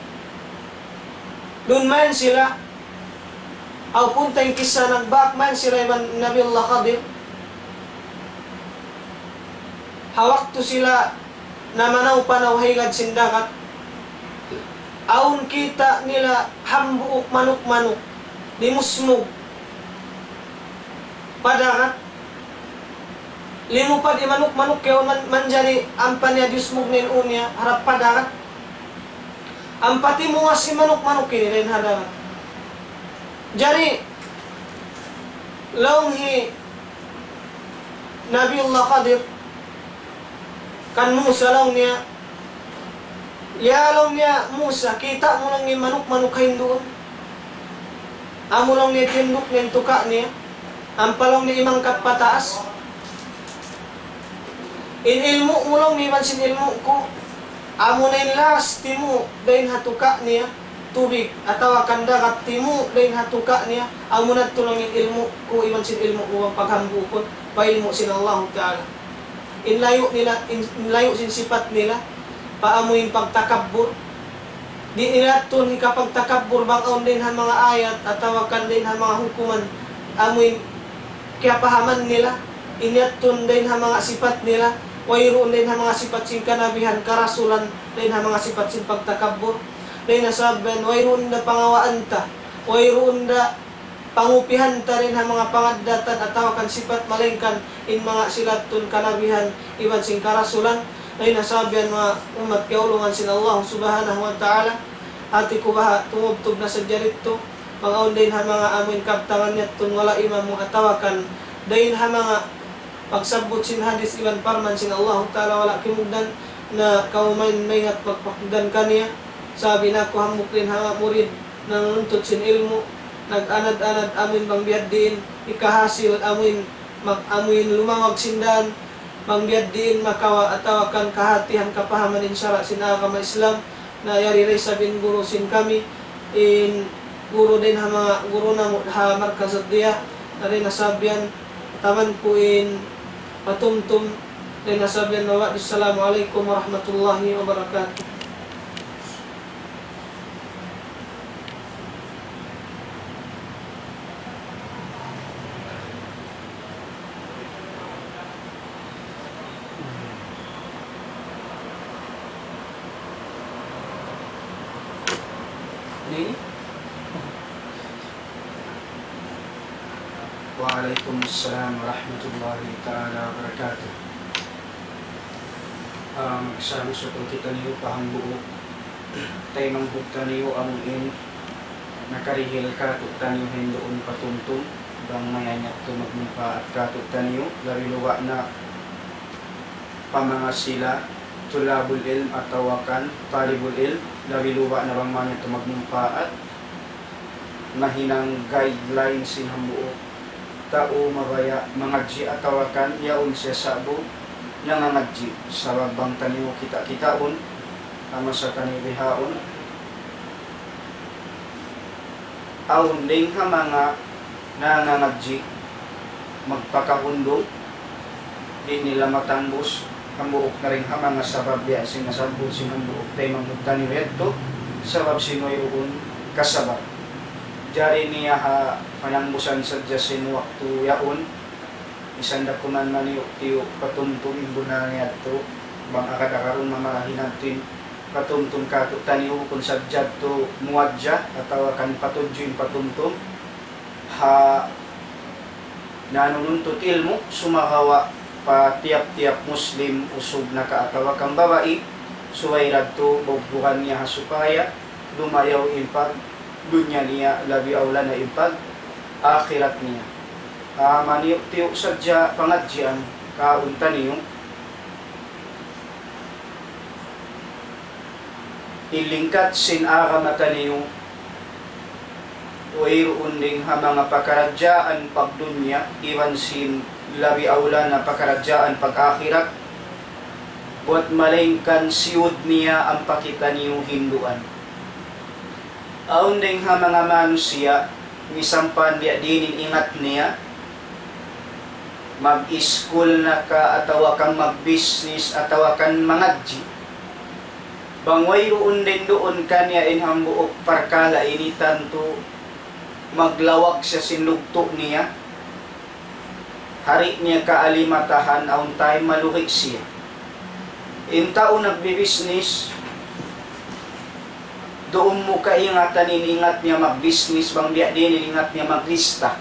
Duun mayan sila, aw punta in kissa, nagbak mayan sila iban Nabiullah Khadir. Ha waktu sila namanaw-panaw ha higad sin dagat, awn kita' nila hambuuk manuk-manuk, limusmug pa dagat. Limupad in manuk-manuk yaun man-, manjari ampa niya diyusmug in ū niya harap pa dagat. Ampa timungas in manuk-manuk ini dayn ha dagat. Jari, laung hi Nabiullah Khadir kan Musa, laung niya, "Ya," laung niya, "Musa, kita' mu," laung niya, "in manuk-manuk ha hinduun? Amu," laung niya, "tinduk niya in tuka' niya, ampa," laung niya, "imangkat pataas. In ilmu' mu," laung niya, "iban sin ilmu' ku, amu na in laas timu' dayn ha tuka' niya tubig, atawa kan dagat timu' dayn ha tuka' niya, amu na tuud," laung niya, "in ilmu' ku iban sin ilmu' mu bang paghambuukun pa ilmu' sin Allahu Ta'ala." In layu' nila, in, in layu' sin sipat nila, pa amuin pagtakabbur. Di' nila tuud hikapagtakabbur bang awn dayn ha manga ayat atawa kan dayn ha manga hukuman, amuin kiyapahaman nila, in yadtu dayn ha manga sipat nila, wayruun dayn ha manga sipat sin kanabihan, karasulan, dayn ha manga sipat sin pagtakabbur. Dayn ha sabab yan, wayruun da pangawaan ta, wayruun da pangupihan ta dayn ha manga pangaddatan atawa kan sipat, malaingkan in manga sila tuud kanabihan iban sin karasulan. Dayn ha sabab yan, manga ummat kiyaulungan sin Allah Subhanahu wa Ta'ala, hati ku baha' tumubtub na sadja didtu, bang awn dayn ha manga amuin kabtangan yadtu wala' imamu atawa kan dayn ha manga pagsabbut sin hadith iban parman sin Allahu Ta'ala wala' kimugdan, na kamu mayan maingat magpakugdan kaniya. Sabab in aku hambuuk dayn ha murid nanuntut sin ilmu', nag-anad-anad amuin bang biya' diin hikahasil amuin mag-, amuin lumawag sin dān, bang biya' diin makawa' atawa kan kahatihan kapahaman in sara' sin agama Islam. Na yari da isab in guru sin kami, in guru dayn ha manga guru namu' ha Markaz Ad-Diya, na dayn ha sabab yan, taman ku in patumtum, dayn ha sabab yan, wa ba'du, assalamu alaykum warahmatullahi wabarakatuh. Ano ini? Wa alaykum assalam warahmatullahi ta'ala wabarakatuh. Ah, magsama sukul kitaniyu pa hambuuk. Taymanghud taniyu amu in Nakarihil kātu'niyu hinduun patumtum, bang mayan yadtu magmumpaat kātu'niyu, labi luba' na pa manga sila tulabul ilm atawa kan talibul ilm, labi luba' na bang mayan yadtu magmumpaat, mahinang guideline sin hambuuk tau mabaya' mangadji' atawa kan yaun siya sa'bu nangangadji'. Sabab bang taniyu kita'-kitaun, ha masa taniyu bihaun, awn dayn ha manga nangangadji' magpakahundung, di' nila matangbus hambuuk na dayn ha manga sabab biya' sin nasabbut sin hambuuk taymanghud taniyu yadtu, sabab sin wayruun kasabab. Jari niya ha panangbusan sadja sin waktu yaun, misan da kuman maniyu'-tiyu' patumtum in bunnal niya yadtu, bang agad-agarun mamarahi natu' in patumtum kātu'niyu bukun sadja yadtu muwajjah atawa kan patudju in patumtum ha nanununtut ilmu', sumagawa' pa tiyap-tiyap Muslim usug na ka atawa kan babai, subay da yadtu bugbugan niya ha supaya dumayaw in pagdunya niya, labi awla na in pag-akhirat niya. Ah, maniyu'-tiyu' sadja pangadjian kaun taniyu. In lingkat sin agama taniyu, wayruun dayn ha manga pakaradjaan pagdunya, iban sin labi awla na pakaradjaan pag-akhirat, buwat malaingkan siyud niya ampa kitaniyu hinduan. Awn dayn ha manga manusiya', misan pa biya' diin in ingat niya, mag-iskul na ka atawa kan mag-business atawa kan mangadji'. Bang wayruun dayn duun kaniya in hambuuk parkala' ini, tantu maglawag siya sin lugtu' niya. Di' niya kaalimatahan awn time malugi' siya. In tau nagbibisnis, duun mu kaingatan in ingat niya magbisnis bang biya' diin in ingat niya maglista.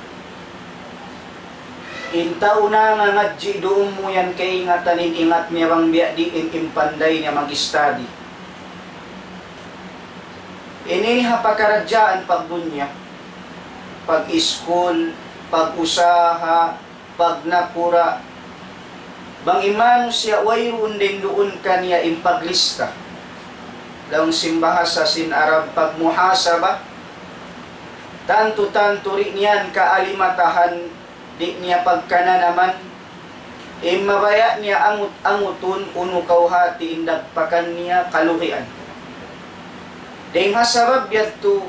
In tau nangangadji', duun mu yan kaingatan in ingat niya bang biya' diin in panday niya mag-study. Ini ha pakaradjaan pagdunya, pag-iskul, pag-usaha, pagnakura', bang in manusiya' wayruun dayn duun kaniya in paglista. Laung sin bahasa sin Arab pagmuhasaba, tantu-tantu di' niya kaalimatahan, di' niya pagkananaman, in mabaya' niya angut-angutun unu kawhati in dagpakan niya kalugian. Dayn ha sabab yadtu,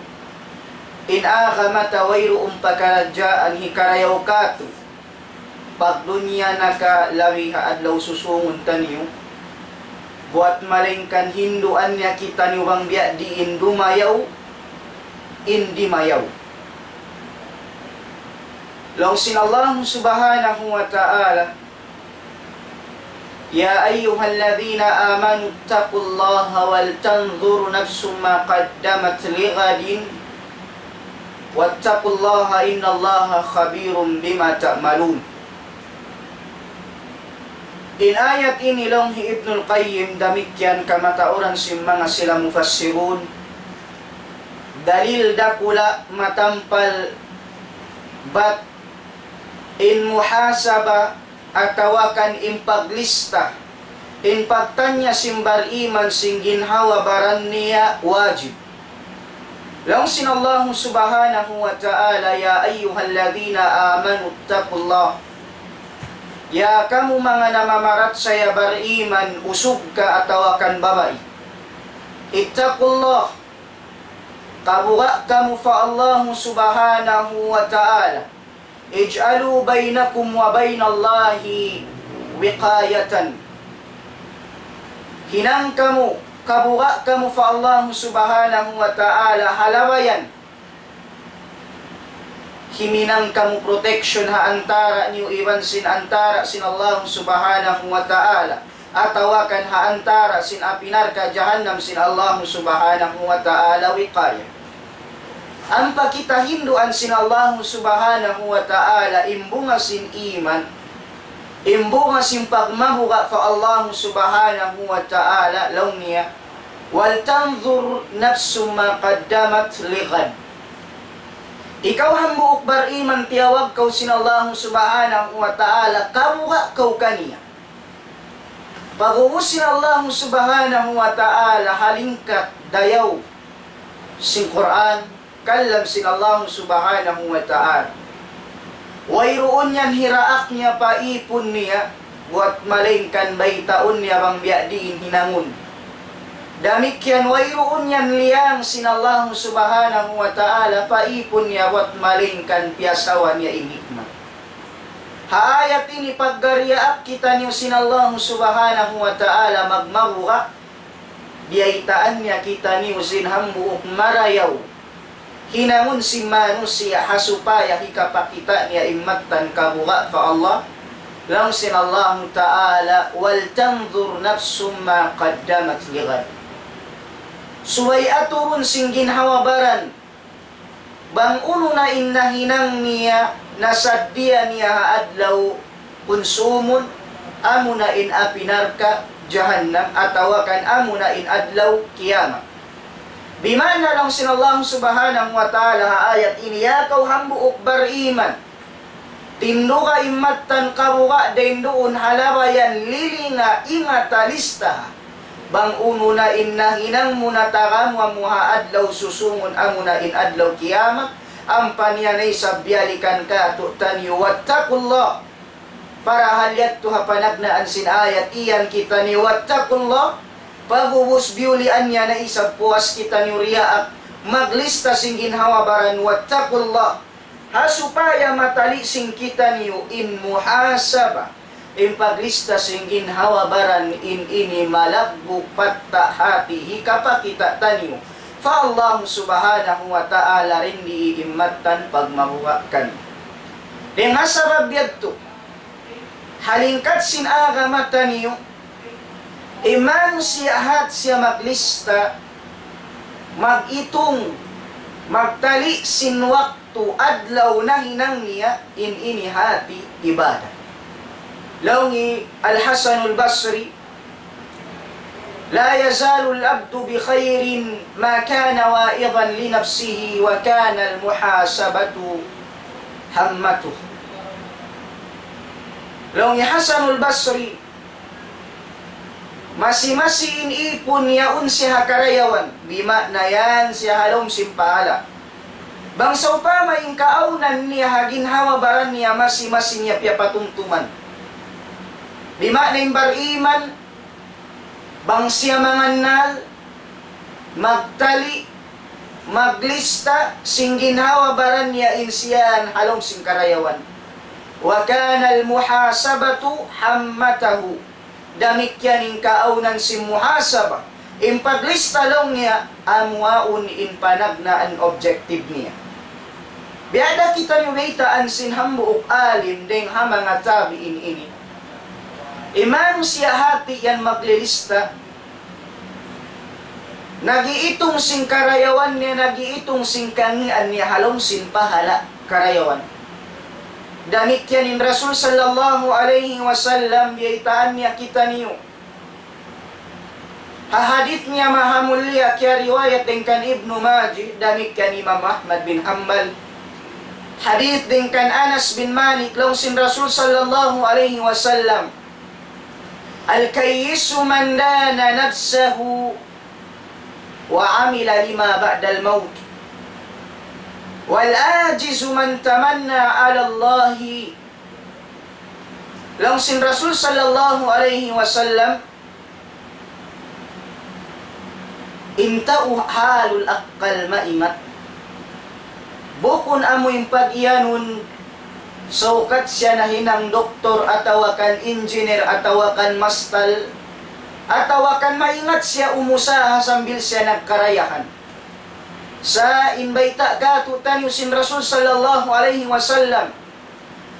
in agama ta wayruun pakaradjaan hikarayaw kātu', pagdunya na ka labi ha adlaw susungun taniyu, buwat malaingkan hinduan niya kitaniyu bang biya' diin dumayaw in dimayaw. Laung sin Allah Subhanahu wa Ta'ala, يا أيها الذين آمنوا اتقوا الله ولتنظر نفس ما قدمت لغد واتقوا الله إن الله خبير بما تعملون. In ayat ini laung hi Ibnul Qayyim, damikkiyan kamatauran sin manga sila mufassirun, dalil dakula' matampal bat in muhasaba atawa kan in paglista, in pagtanya sin bariman sin ginhawa-baran niya wajib. Laung sin Allah Subhanahu wa Ta'ala, يا أيها الذين آمنوا اتقوا الله. Ya kamu manga namamarachaya bariman, usug ka atawa kan babai. اتقوا الله. Kabuga' kamu pa Allah Subhanahu wa Ta'ala. اجعلوا بينكم وبين الله وقاية. Hinang kamu, kabuga' kamu pa Allah Subhanahu wa Ta'ala ha labayan. Himinang kamu protection ha antara' niyu iban sin antara' sin Allah Subhanahu wa Ta'ala, atawa kan ha antara' sin api narka' jahannam sin Allah Subhanahu wa Ta'ala wiqaya. Ampa kita hinduan sin Allah Subhanahu wa Ta'ala in bunga sin iman, in bunga sin pagmabuga' pa Allah Subhanahu wa Ta'ala, laung niya, ولتنظر نفس ما قدمت لغد. Ikaw hambuuk bariman, tiyawag kaw sin Allahu Subhanahu wa Ta'ala, kabuga' kaw kaniya. Pag'ubus sin Allahu Subhanahu wa Ta'ala, ha lingkat dayaw sin Qur'an, kalam sin Allahu Subhanahu wa Ta'ala. Wayruun yan hiraak niya pa ipun niya, buwat malaingkan baytaun niya bang biya' diin hinangun. Damikkiyan wayruun yan liyang sin Allahu Subhanahu wa Ta'ala pa ipun niya, buwat malaingkan piyasawa niya in hikmat. Ha ayat ini paggariyaak kitaniyu sin Allahu Subhanahu wa Ta'ala magmabuga', biyaytaan niya kitaniyu sin hambuuk marayaw hinangun sin manusiya' ha supaya hikapakita' niya in mattan kabuga' pa Allah. Laung sin Allahu Ta'ala, وَلْتَنْظُرْ نَفْسٌ مَا قَدَّمَتْ لِغَدٍ. Subay aturun sin ginhawa-baran bang unu na in nahinang niya, nasaddiya niya ha adlaw kunsumun, amuna in api narka' jahannam, atawa kan amuna in adlaw kiyamat. Bima'na laung sin Allah Subhanahu wa Ta'ala ha ayat ini, ya kaw hambuuk bariman, tinduga in mattan kabuga' dayn duun ha labayan, lilinga, ingata, lista. Bang unu na in nahinang mu, natagama mu ha adlaw susungun, amuna in adlaw kiyamat, ampa niya na isab biyalikan kātu'niyu, وَاتَّقُوا اللَّهَ. Parahal yadtu ha panagnaan sin ayat iyan kitaniyu, وَاتَّقُوا اللَّهَ. Pag'ubus biyulian niya na isab puas kitaniyu riyaak maglista sin ginhawa-baran, وَاتَّقُوا اللَّهَ. Ha supaya matali' sin kitaniyu in muhasaba, in paglista sin ginhawa-baran in ini malaggu' patta' hati hikapakita' taniyu pa Allah Subhanahu wa Ta'ala, dindi in mattan pagmabuga' kaniya. Dayn ha sabab yadtu, ha lingkat sin agama taniyu, in manusiya' hat siya maglista, mag-itung, magtali' sin waktu, adlaw nahinang niya, in ini hati ibadat. Laung hi Al-Hasanul Basri, لا يزال العبد بخير ما كان واعظا لنفسه وكان المحاسبة همته. Laung hi Hasanul Basri, masi-masi in ipun yaun siya ha karayawan, bima'na yan siya ha lawm sin pahala'. Bang sawpama in kaawnan niya ha ginhawa-baran niya masi-masi niya piyapatumtuman. Bima'na in bariman, bang siya mangannal, magtali', maglista, sin ginhawa-baran niya in siya ha lawm sin karayawan. وكان المحاسبة همته. Damikkiyan in kaawnan sin muhasaba. In paglista laung niya, amu yaun in panagnaan objective niya. Biya' da kitaniyu baytaan sin hambuuk alim dayn ha manga tabi'in ini. In manusiya' hati yan maglilista, nag-iitung sin karayawan niya, nag-iitung sin kangīan niya ha lawm sin pahala' karayawan. Damikkiyan in Rasul sallallahu alayhi wasallam, biyaytaan niya kitaniyu ha hadith niya mahamulliya, kiyariwayat dayn kan Ibnu Majah, damikkiyan Imam Ahmad bin Hanbal. Hadith dayn kan Anas bin Malik, laung sin Rasul sallallahu alayhi wasallam, الكيس من دان نفسه وعمل لما بعد الموت، والعاجز من تمنى على الله. Laung sin Rasul sallallahu alayhi wasallam, in tau halul akkal, maingat, bukun amu in pag-iyanun, saukat siya nahinang doktor, atawa kan engineer, atawa kan mastal, atawa kan maingat siya umusaha sambil siya nagkarayahan. Sa' in bayta' kātu'niyu sin Rasul sallallahu alayhi wasallam,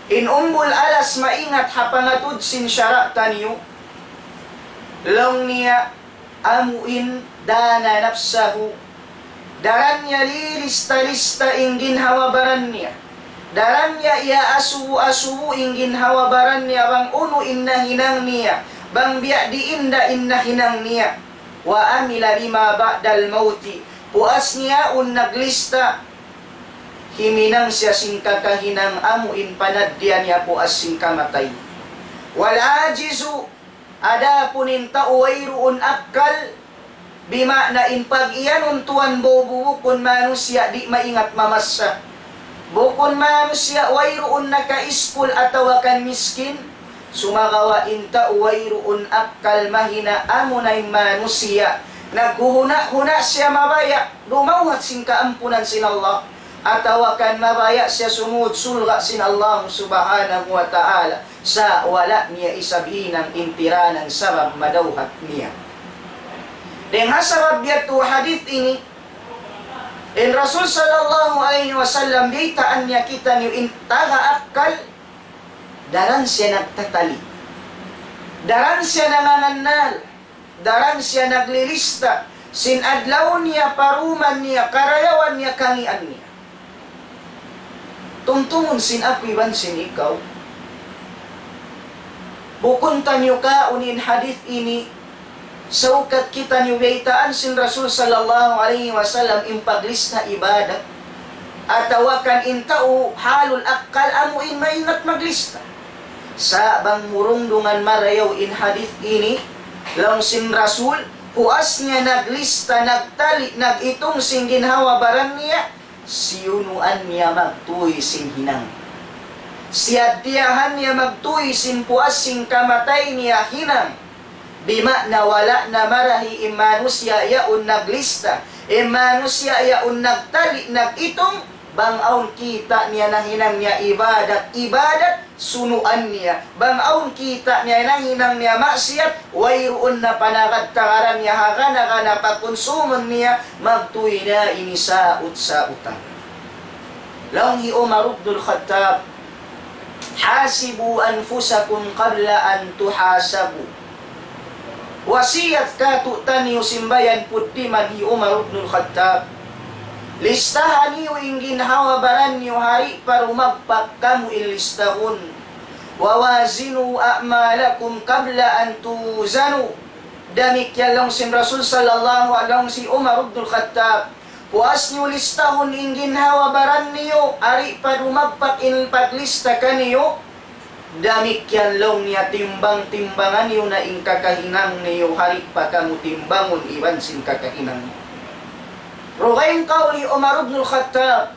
in umbul alas maingat ha pangatud sin sara' taniyu, laung niya, amu in دان نفسه. Daran niya lilista-lista in ginhawa-baran niya. Daran niya iyaasubu-asubu in ginhawa-baran niya bang unu in nahinang niya, bang biya' diin da in nahinang niya. وعمل لما بعد الموت. Puas niya yaun naglista, himinang siya sin kakahinang amu in panaddian niya puas sin kamatay. والعاجز, adapun in tau wayruun akkal, bima'na in pag-iyanun tuwan bukun manusiya' di' maingat mamassa. Bukun manusiya' wayruun nakaiskul atawa kan miskin, sumagawa' in tau wayruun akkal mahina amuna in manusiya'. Naghuhuna-huna siya mabaya', dumawhat sin kaampunan sin Allah, atawa kan mabaya' siya sumud surga' sin Allah subhanahu wa ta'ala. Sa' wala' niya isab hinang in piranan sabab madawhat niya. Dayn ha sabab yadtu hadith ini, in Rasul sallallahu alayhi wasallam biyaytaan niya kitaniyu in taga akkal, daran siya nagtatali', daran siya nangangannal, daran siya naglilista sin adlaw niya, paruman niya, karayawan niya, kangīan niya. Tumtumun sin aku iban sin ikaw. Bukun taniyu kaun in hadith ini, saukat kitaniyu biyaytaan sin Rasul sallallahu alayhi wasallam in paglista ibadat, atawa kan in tau halul akkal amu in maingat maglista. Sa' bang mu rundungan marayaw in hadith ini, laung sin Rasul, puas niya naglista, nagtali', nag-itung sin ginhawa-baran niya, siyunuan niya magtuy sin hinang. Siyaddiyahan niya magtuy sin puas sin kamatay niya hinang. Bima'na wala' na marahi in manusiya' yaun naglista, in manusiya' yaun nagtali', nag-itung, bang awn kita' niya nahinang niya ibadat, ibadat, sunuan niya. Bang awn kita' niya nahinang niya maksiyat, wayruun na panagad-tagaran niya, hagana-gana pakunsumun niya, magtuy na ini saut-sautan. Laung hi Umar ibnul Khattab, حاسبوا أنفسكم قبل أن تحاسبوا. Wasiyat kātu'niyu simbayan puddiman hi Umar ibnul Khattab. Listaha niyu in ginhawa-baran niyu ha di' pa dumagpak kamu in listahun. ووازنوا أعمالكم قبل أن توزنوا. Damikkiyan laung sin Rasul sallallahu alayhi wasallam hi Umar ibnul Khattab. Puas niyu listahun in ginhawa-baran niyu, ha di' pa dumagpak in paglista kaniyu. Damikkiyan laung niya timbang-timbangan niyu na in kakahinang niyu, ha di' pa kamu timbangun iban sin kakahinang niyu. Dugaing kawl hi Umar ibnul Khattab.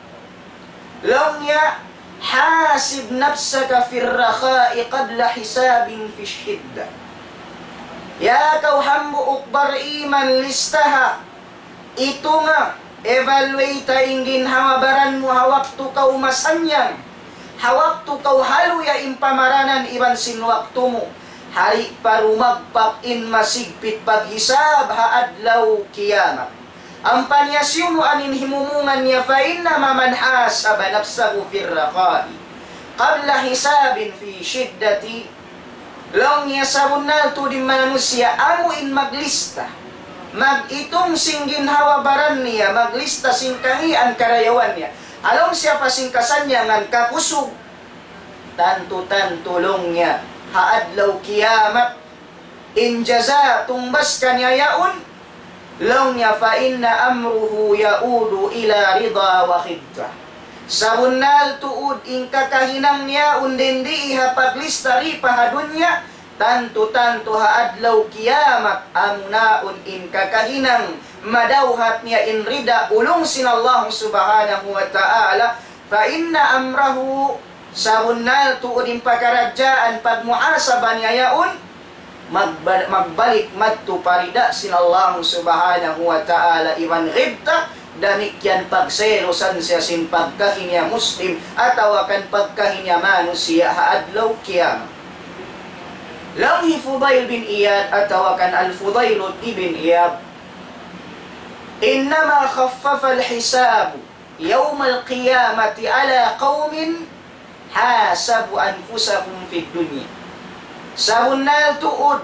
Laung niya, حاسب نفسك في الرخاء قبل حساب في الشدة. Ya kaw hambuuk bariman, listaha, itunga, evaluate in ginhawa-baran mu ha waktu kaw masannyang, ha waktu kaw haluya in pamaranan iban sin waktu mu, ha di' pa dumagpak in masigpit paghisab ha adlaw kiyamat. Ampa niya siyunuan in himumungan niya, فإنما من حاسب نفسه في الرخاء قبل حساب في الشدة. Laung niya sabunnal tuud in manusiya' amu in maglista, mag-itung sin ginhawa-baran niya, maglista sin kangīan karayawan niya. Ha lawm siya pa sin kasannyangan, kakusug. Tantu-tantu laung niya, ha adlaw kiyamat, in jaza tungbas kaniya yaun, laung niya, فإن أمره يعود إلى رضا وغبطة. Sabunnal tuud in kakahinang niya yaun dayn di ha paglista di pa ha dunya, tantu-tantu ha adlaw kiyamat, amu na yaun in kakahinang madawhat niya in rida ulung sin Allah subhanahu wa ta'ala, فإن أمره, sabunnal tuud in pakaradjaan pagmuhasaba niya yaun, magba-, magbalik madtu pa rida sin Allah subhanahu wa ta'ala iban ghibta, damikkiyan pagselusan siya sin pagkahi niya Muslim atawa kan pagkahi niya manusiya' ha adlaw kiyamat. Laung hi Fudail bin Iyad atawa kan Al-Fudail ibn Iyad, إنما خفف الحساب يوم القيامة على قوم حاسبوا أنفسهم في الدنيا. Sabunnal tuud,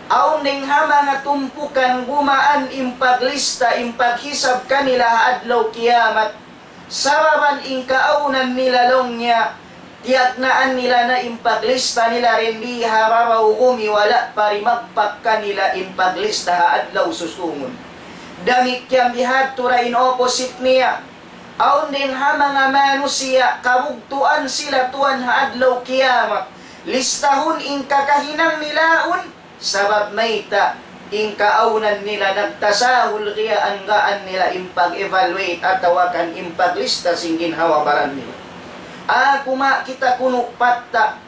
awn dayn ha manga tumpukan gumaan in paglista, in paghisab kanila ha adlaw kiyamat. Sababan in kaawnan nila laung niya, tiyagnaan nila na in paglista nila dayn di ha babaw gumi, wala' pa rimagpak kanila in paglista ha adlaw susūngun. Damikkiyan bihadtu da in opposite niya. Awn dayn ha manga manusiya' kabugtuan sila tuwan ha adlaw kiyamat. Listahun in kakahinang nila yaun, sabab mayta', in kaawnan nila nagtasahul kiyanggaan nila in pag-evaluate atawa kan in paglista sin ginhawa-baran nila. Aku ma kita kunu' patta',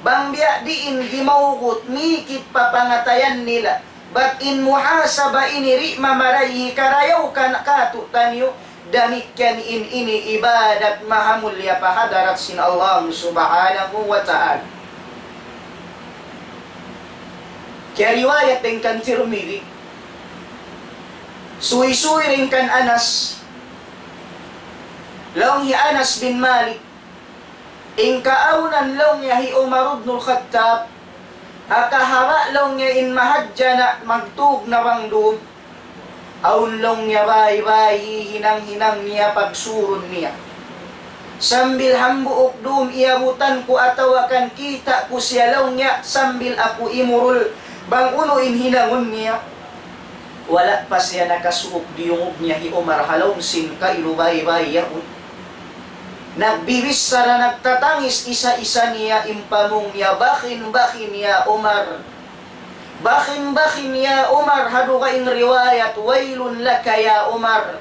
bang biya' diin gimawgut mikit pa pangatayan nila. Bat in muhasaba ini di' mamaray hikarayaw kan katu'taniyu, damikkiyan in ini ibadat mahamulliya pa hadarat sin Allah Subhanahu wa Ta'ala. Kiyariwayat dayn kan Tirmidhi, suysuy dayn kan Anas, laung hi Anas bin Malik, in kaawnan laung niya hi Umar ibn al-Khattab, ha kahaba' laung niya in mahadja na magtug na bang dum, awn laung niya bāy-bāy hihinang-hinang niya pagsurun niya. Sambil hambuuk dum iyabutan ku atawa kan kita' ku siya laung niya, sambil aku imurul bang unu in hinangun niya. Wala' pa siya nakasuuk diyungug niya hi Umar ha lawm sin kailu bāy-bāy yaun. Nagbibichara, nagtatangis isa-isa niya in pamung niya, "Bakhin, bakhin ya Umar. Bakhin, bakhin ya Umar." Ha dugaing riwayat, "Waylun laka ya Umar.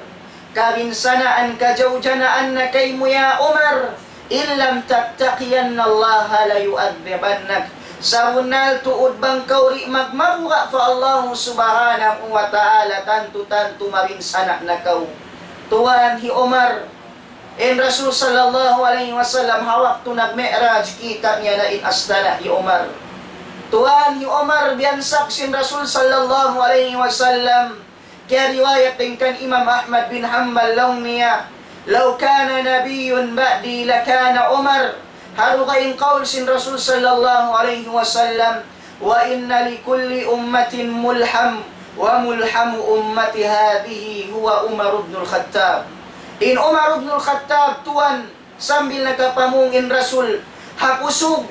Kabinsanaan, kajawjanaan na kaymu ya Umar. In lam tattaqiyanna Allaha layu'adhibannak." Sabunnal tuud bang kaw di' magmabuga' pa Allah Subhanahu wa Ta'ala, tantu-tantu mabinsana' na kaw. Tuwan hi Umar, in Rasul sallallahu alayhi wasallam ha waktu nag-Mi'raj, kita' niya na in astana' hi Umar. Tuwan hi Umar, biyansag sin Rasul sallallahu alayhi wasallam. Kiyariwayat dayn kan Imam Ahmad bin Hanbal laung niya, "لو كان نبي بعدي لكان عمر." Ha dugaing kawl sin Rasul sallallahu alayhi wasallam, "وإن لكل أمة ملهم، وملهم أمتي هذه هو عمر بن الخطاب." In Umar ibn al-Khattab tuwan, sambil nakapamung in Rasul, ha kusug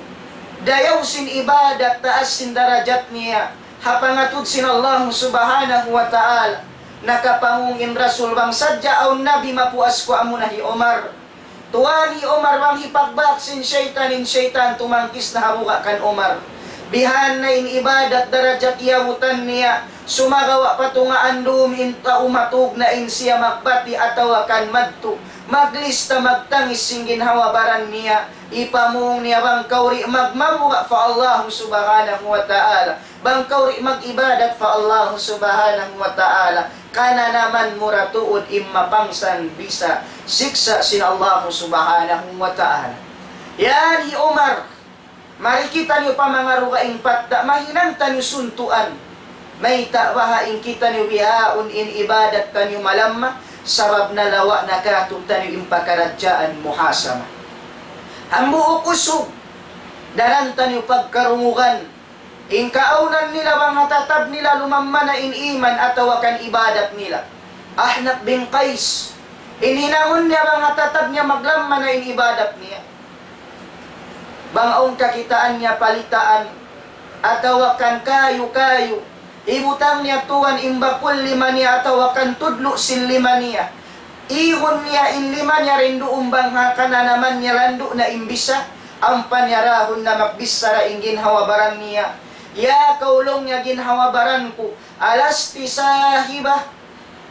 dayaw sin ibadat, taas sin darajat niya ha pangatud sin Allah Subhanahu wa Ta'ala. Nakapamung in Rasul, "Bang sadja awn nabi mapuas ku, amuna hi Umar." Tuwan hi Umar, bang hipagbak sin saytan, in saytan tumangkis na ha buga' kan Umar. Bihan na in ibadat darajat iyabutan niya, sumagawa' pa tungaan dum in tau matug na in siya magbati' atawa kan madtu maglista, magtangis sin ginhawa-baran niya. Ipamung niya, "Bang kaw di' magmabuga' pa Allah Subhanahu wa Ta'ala, bang kaw di' mag-ibadat pa Allah Subhanahu wa Ta'ala, kananaman mu ra tuud in mapangsan bisa siksa' sin Allah Subhanahu wa Ta'ala." Yan hi Umar. Mari kitaniyu pa manga dugaing patta', mahinang taniyu suntuan. Mayta' baha' in kitaniyu bihaun in ibadat taniyu malamma, sabab nalawa' na katu'taniyu in pakaradjaan muhasaba. Hambuuk usug, daran taniyu pagkarungugan. In kaawnan nila bang ha tatab nila lumamma na in iman atawa kan ibadat nila. Ahnaf bin Qais. In hinangun niya bang ha tatab niya maglamma na in ibadat niya. Bang awn kakitaan niya palitaan, atawa kan kayu-kayu, ibutang niya tuwan in bakul lima niya atawa kan tudlu' sin lima niya. Ihun niya in lima niya dayn duun bang ha kananaman niya landu' na in bisa, ampa niya dahun na magbichara in ginhawa-baran niya. "Ya kaw," laung niya, "ginhawa-baran ku, ألست صاحبة?"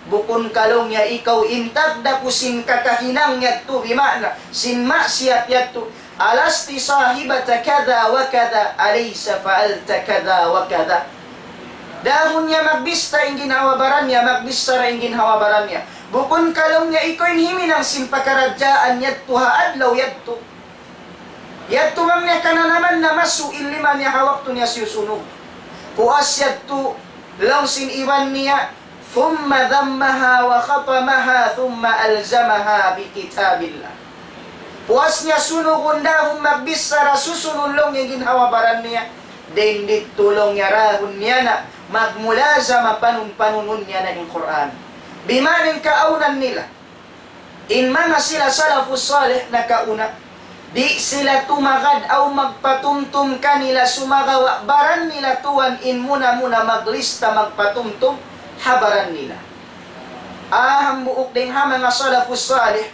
Bukun ka laung niya ikaw in tagdapu sin kakahinang yadtu, bima'na sin maksiyat yadtu. ألست صاحبة كذا وكذا؟ أليس فعلت كذا وكذا؟ Dahun niya magbista in ginhawa-baran niya, magbichara in ginhawa-baran niya. Bukun ka laung niya ikaw in himinang sin pakaradjaan yadtu ha adlaw yadtu. Yadtu bang niya kananaman na masu' in lima niya ha waktu niya siyusunug. Puas yadtu, laung sin iban niya, ثم ذمها وخطمها ثم ألزمها بكتاب الله. Puas niya sunugun dahun magbichara, susunun laung in ginhawa-baran niya. Dayn didtu laung niya dahun niya na magmulazama, panun-panunun niya na in Qur'an. Bima'na in kaawnan nila. In manga sila salafus salih nakauna, di' sila tumagad aw magpatumtum kanila, sumagawa' baran nila tuwan in muna-muna maglista, magpatumtum ha baran nila. Ah, hambuuk dayn ha manga salafus salih,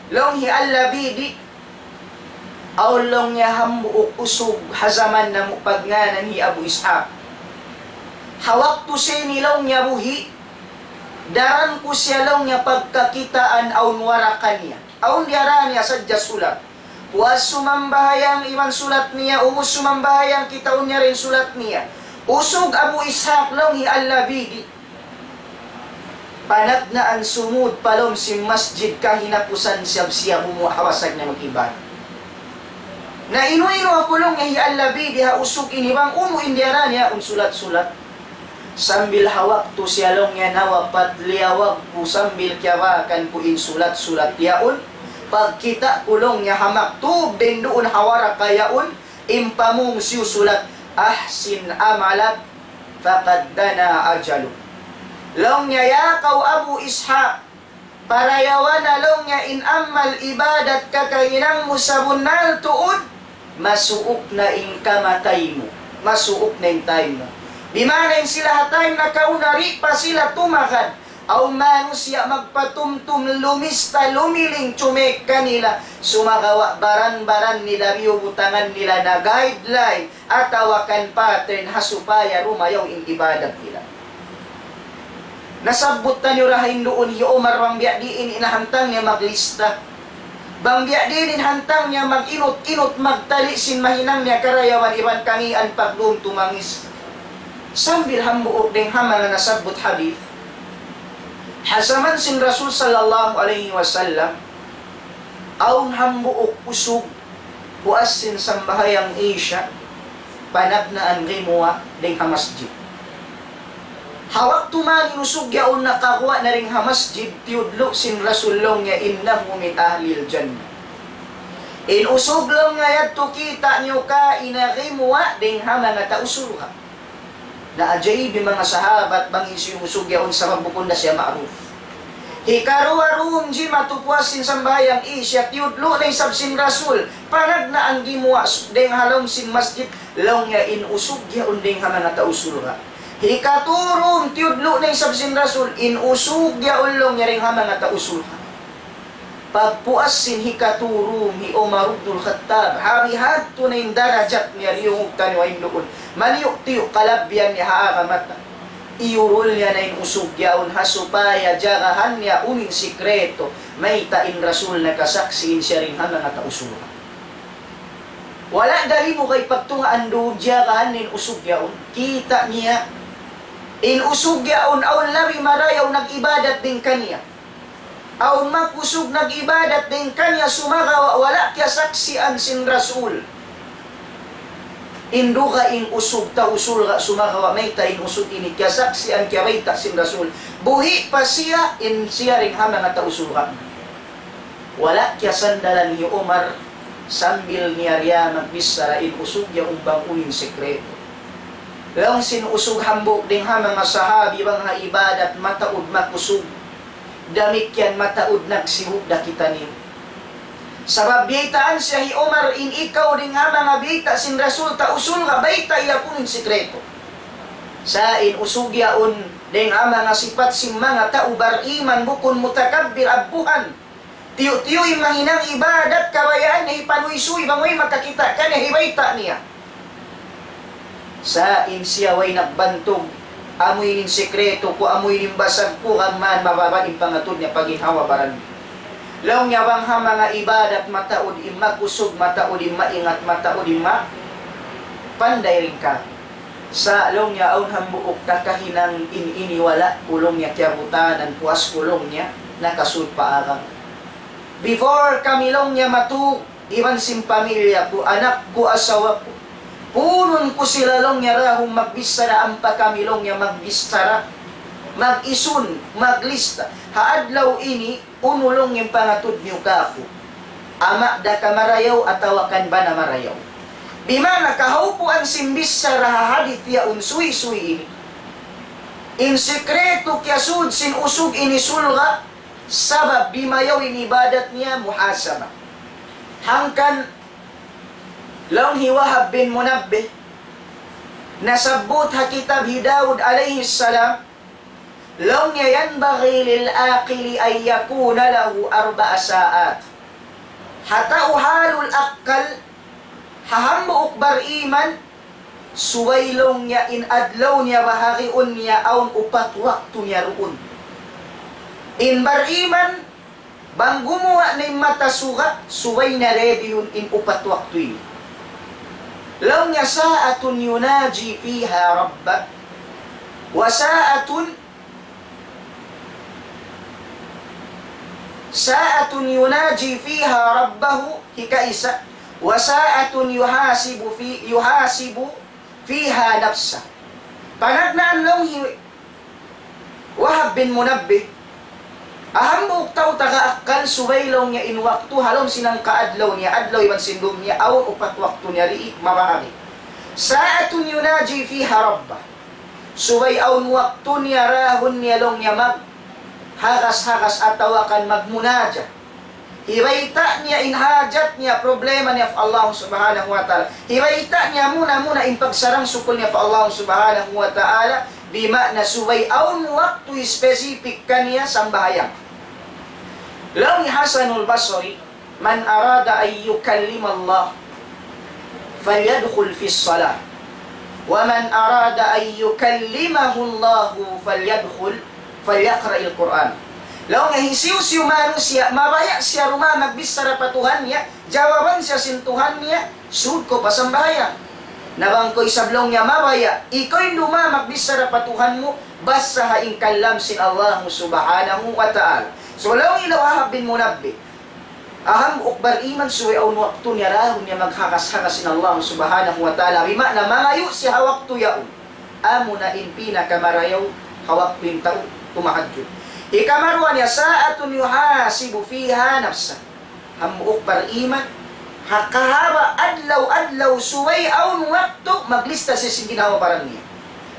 Laung hi Al-Labidi, awn laung niya hambuuk usug ha jaman namu' pagngānan hi Abu Ishaq. Ha waktu sini laung niya buhi', daran ku siya laung niya pagkakitaan awn waraka niya. Awn diyara niya sadja sulat. Puas sumambahayang iban sulat niya, ubus sumambahayang kitaun niya in sulat niya. Usug Abu Ishaq laung hi Al-Labidi. Panagnaan sumud pa lawm sin masjid kahinapusan siya, siya gumuwa' ha wasag niya mag-ibadat. Na inu-inu aku laung hi Al-Labidi ha usug ini bang unu in diyara niya awn sulat-sulat. Sambil ha waktu siya laung niya nawapat, liyawag ku sambil kiyabakan ku in sulat-sulat yaun. Pagkita' ku laung niya ha maktub dayn duun ha waraka yaun, in pamung siyusulat, "Ahsin amalak, faqad dana ajaluk." Laung niya, "Ya kaw Abu Ishaq, parayawa na," laung niya, "in amal ibadat kakahinang mu sabunnal tuud, masuuk na in kamatay mu, masuuk na in time mu." Bimana in sila ha time nakauna, di' pa sila tumagad. Awn manusiya' magpatumtum, lumista, lumiling, chumeyk kanila. Sumagawa' baran-baran nila, biyubutangan nila na guideline atawa kan pattern ha supaya rumayaw in ibadat nila. Nasabbut taniyu ra ha in duun hi Umar bang biya' diin in hantang niya maglista. Bang biya' diin in hantang niya mag-inut-inut, magtali' sin mahinang niya karayawan iban kangīan pagdum tumangis. Sambil hambuuk dayn ha manga nasabbut hadith, ha jaman sin Rasul sallallahu alayhi wasallam, awn hambuuk usug, puas sin sambahayang Isha, panagnaan gimuwa' dayn ha masjid. Ha waktu man in usug yaun nakaguwa' na dayn ha masjid, tiyudlu' sin Rasul laung niya, "Innahu min ahlil jannah." In usug laung niya yadtu kita' niyu kaina gimuwa' dayn ha manga tau surga'. Naajaib in manga sahabat bang hisiyu in usug yaun sabab bukun da siya ma'ruf. Hikaruwa dum jimatu puas sin sambahayang Isha, tiyudlu' na isab sin Rasul, panagnaan gimuwa' s-, dayn ha lawm sin masjid, laung niya in usug yaun dayn ha manga tau surga'. Hikatu dum tiyudlu' na isab sin Rasul, in usug yaun laung niya dayn ha manga tau surga'. Pagpuas sin hikatu dum hi Umar ibnul Khattab, ha bihadtu na in darajat niya, diyungug taniyu ha in duun. Maniyu'-tiyu' kalabbihan niya ha agama ta. Iyurul niya na in usug yaun ha supaya jagahan niya unu in sikreto, mayta' in Rasul nakasaksi' in siya dayn ha manga tau surga'. Wala' da limugay pagtungaan duun, jagahan niya in usug yaun. Kita' niya, in usug yaun awn labi marayaw nag-ibadat dayn kaniya. Awn makusug nag-ibadat dayn kaniya sumagawa' wala' kiyasaksian sin Rasul. In dugaing usug tau surga' sumagawa' mayta' in usug ini kiyasaksian, kiyabayta' sin Rasul. Buhi' pa siya, in siya dayn ha manga tau surga'. Wala' kiyasandalan hi Umar sambil niya riya magbichara in usug yaun bang unu in sikreto. Laung sin usug hambuuk dayn ha manga sahabi bang ha ibadat mataud makusug. Damikkiyan mataud nagsibuk da kitaniyu. Sabab biyaytaan siya hi Umar in ikaw dayn ha manga biyayta' sin Rasul tau surga', baytai aku in sikreto. Sa' in usug yaun dayn ha manga sipat sin manga tau bariman bukun mutakabbir abbuhan. Tiyu'-tiyu' in mahinang ibadat kabayaan niya hipanuysuy bang way makakita' kaniya hibayta' niya. Sa' in siya way nagbantug, amu ini in sikreto ku, amu ini in basag ku, gam mayan mababa' in pangatud niya pa ginhawa-baran. Laung niya bang ha manga ibadat mataud in makusug, mataud in maingat, mataud in ma-, panday dayn ka. Sa' laung niya awn hambuuk kakahinang in ini wala' ku laung niya kiyabutanan, puas ku laung niya nakasud pa agang. Before kami laung niya matug, iban sin pamilya ku, anak ku, asawa ku, punun ku sila laung niya dahun magbichara ampa kami laung niya magbichara, mag-isun, maglista. Ha adlaw ini, unu laung in pangatud niyu kāku'? Ama' da ka marayaw atawa kan bana marayaw? Bimana kahaupuan sin bichara ha hadith yaun suysuy ini. In sikreto kiyasud sin usug ini surga', sabab bimayaw in ibadat niya muhasaba. Hangkan laung hi Wahab bin Munabbih, nasabbut ha kitab hi Daud alayhi salam, laung niya, ينبغي للعاقل أن يكون له أربع ساعات. Ha tau halul akkal, ha hambuuk bariman, subay laung niya in adlaw niya bahariun niya awn upat waktu niya duun. In bariman, bang gumuwa' na in mata suga, subay niya ready-hun in upat waktu ini. Laung niya, ساعة يناجي فيها ربه، وساعة ساعة يناجي فيها ربه, hikaisa, وساعة يحاسب في، يحاسب فيها نفسه. Panagnaan laung hi Wahab bin Munabbih, ha hambuuk tau taga akkal subay laung niya in waktu ha lawm sin hangka adlaw niya, adlaw iban sin dum niya, awn upat waktu niya di' mabahagi. ساعة يناجي فيها ربه. Subay awn waktu niya dahun niya laung niya maghagas-hagas atawa kan magmunaja. Hibayta' niya in hajat niya, problema niya pa Allah Subhanahu wa Ta'ala. Hibayta' niya muna-muna in pagsarang-sukul niya pa Allah Subhanahu wa Ta'ala. Bima'na subay awn waktu specific kaniya sambahayang. Laung hi Hasanul Basri, من أراد أن يكلم الله فليدخل في الصلاة، ومن أراد أن يكلمه الله فليدخل، فليقرأ القرآن. Laung niya hisiyu-siyu manusiya', mabaya' siya dumatung magbichara pa Tuhan niya, jawaban siya sin Tuhan niya, sud kaw pa sambahayang. Na bang kaw isab laung niya mabaya', ikaw in dumatung magbichara pa Tuhan mu, basaha in kalam sin Allah Subhanahu wa Ta'ala. So, laung hi Wahab bin Munabbih, ha hambuuk bariman subay awn waktu niya dahun niya maghagas-hagas sin Allah Subhanahu wa Ta'ala. Bima'na mangayu' siya ha waktu yaun. Amuna in pinakamarayaw ha waktu in tau tumahajjud. Hikaruwa niya, ساعة يحاسب فيها نفسه. Hambuuk bariman, ha kahaba' adlaw-adlaw subay awn waktu maglista siya sin ginhawa-baran niya.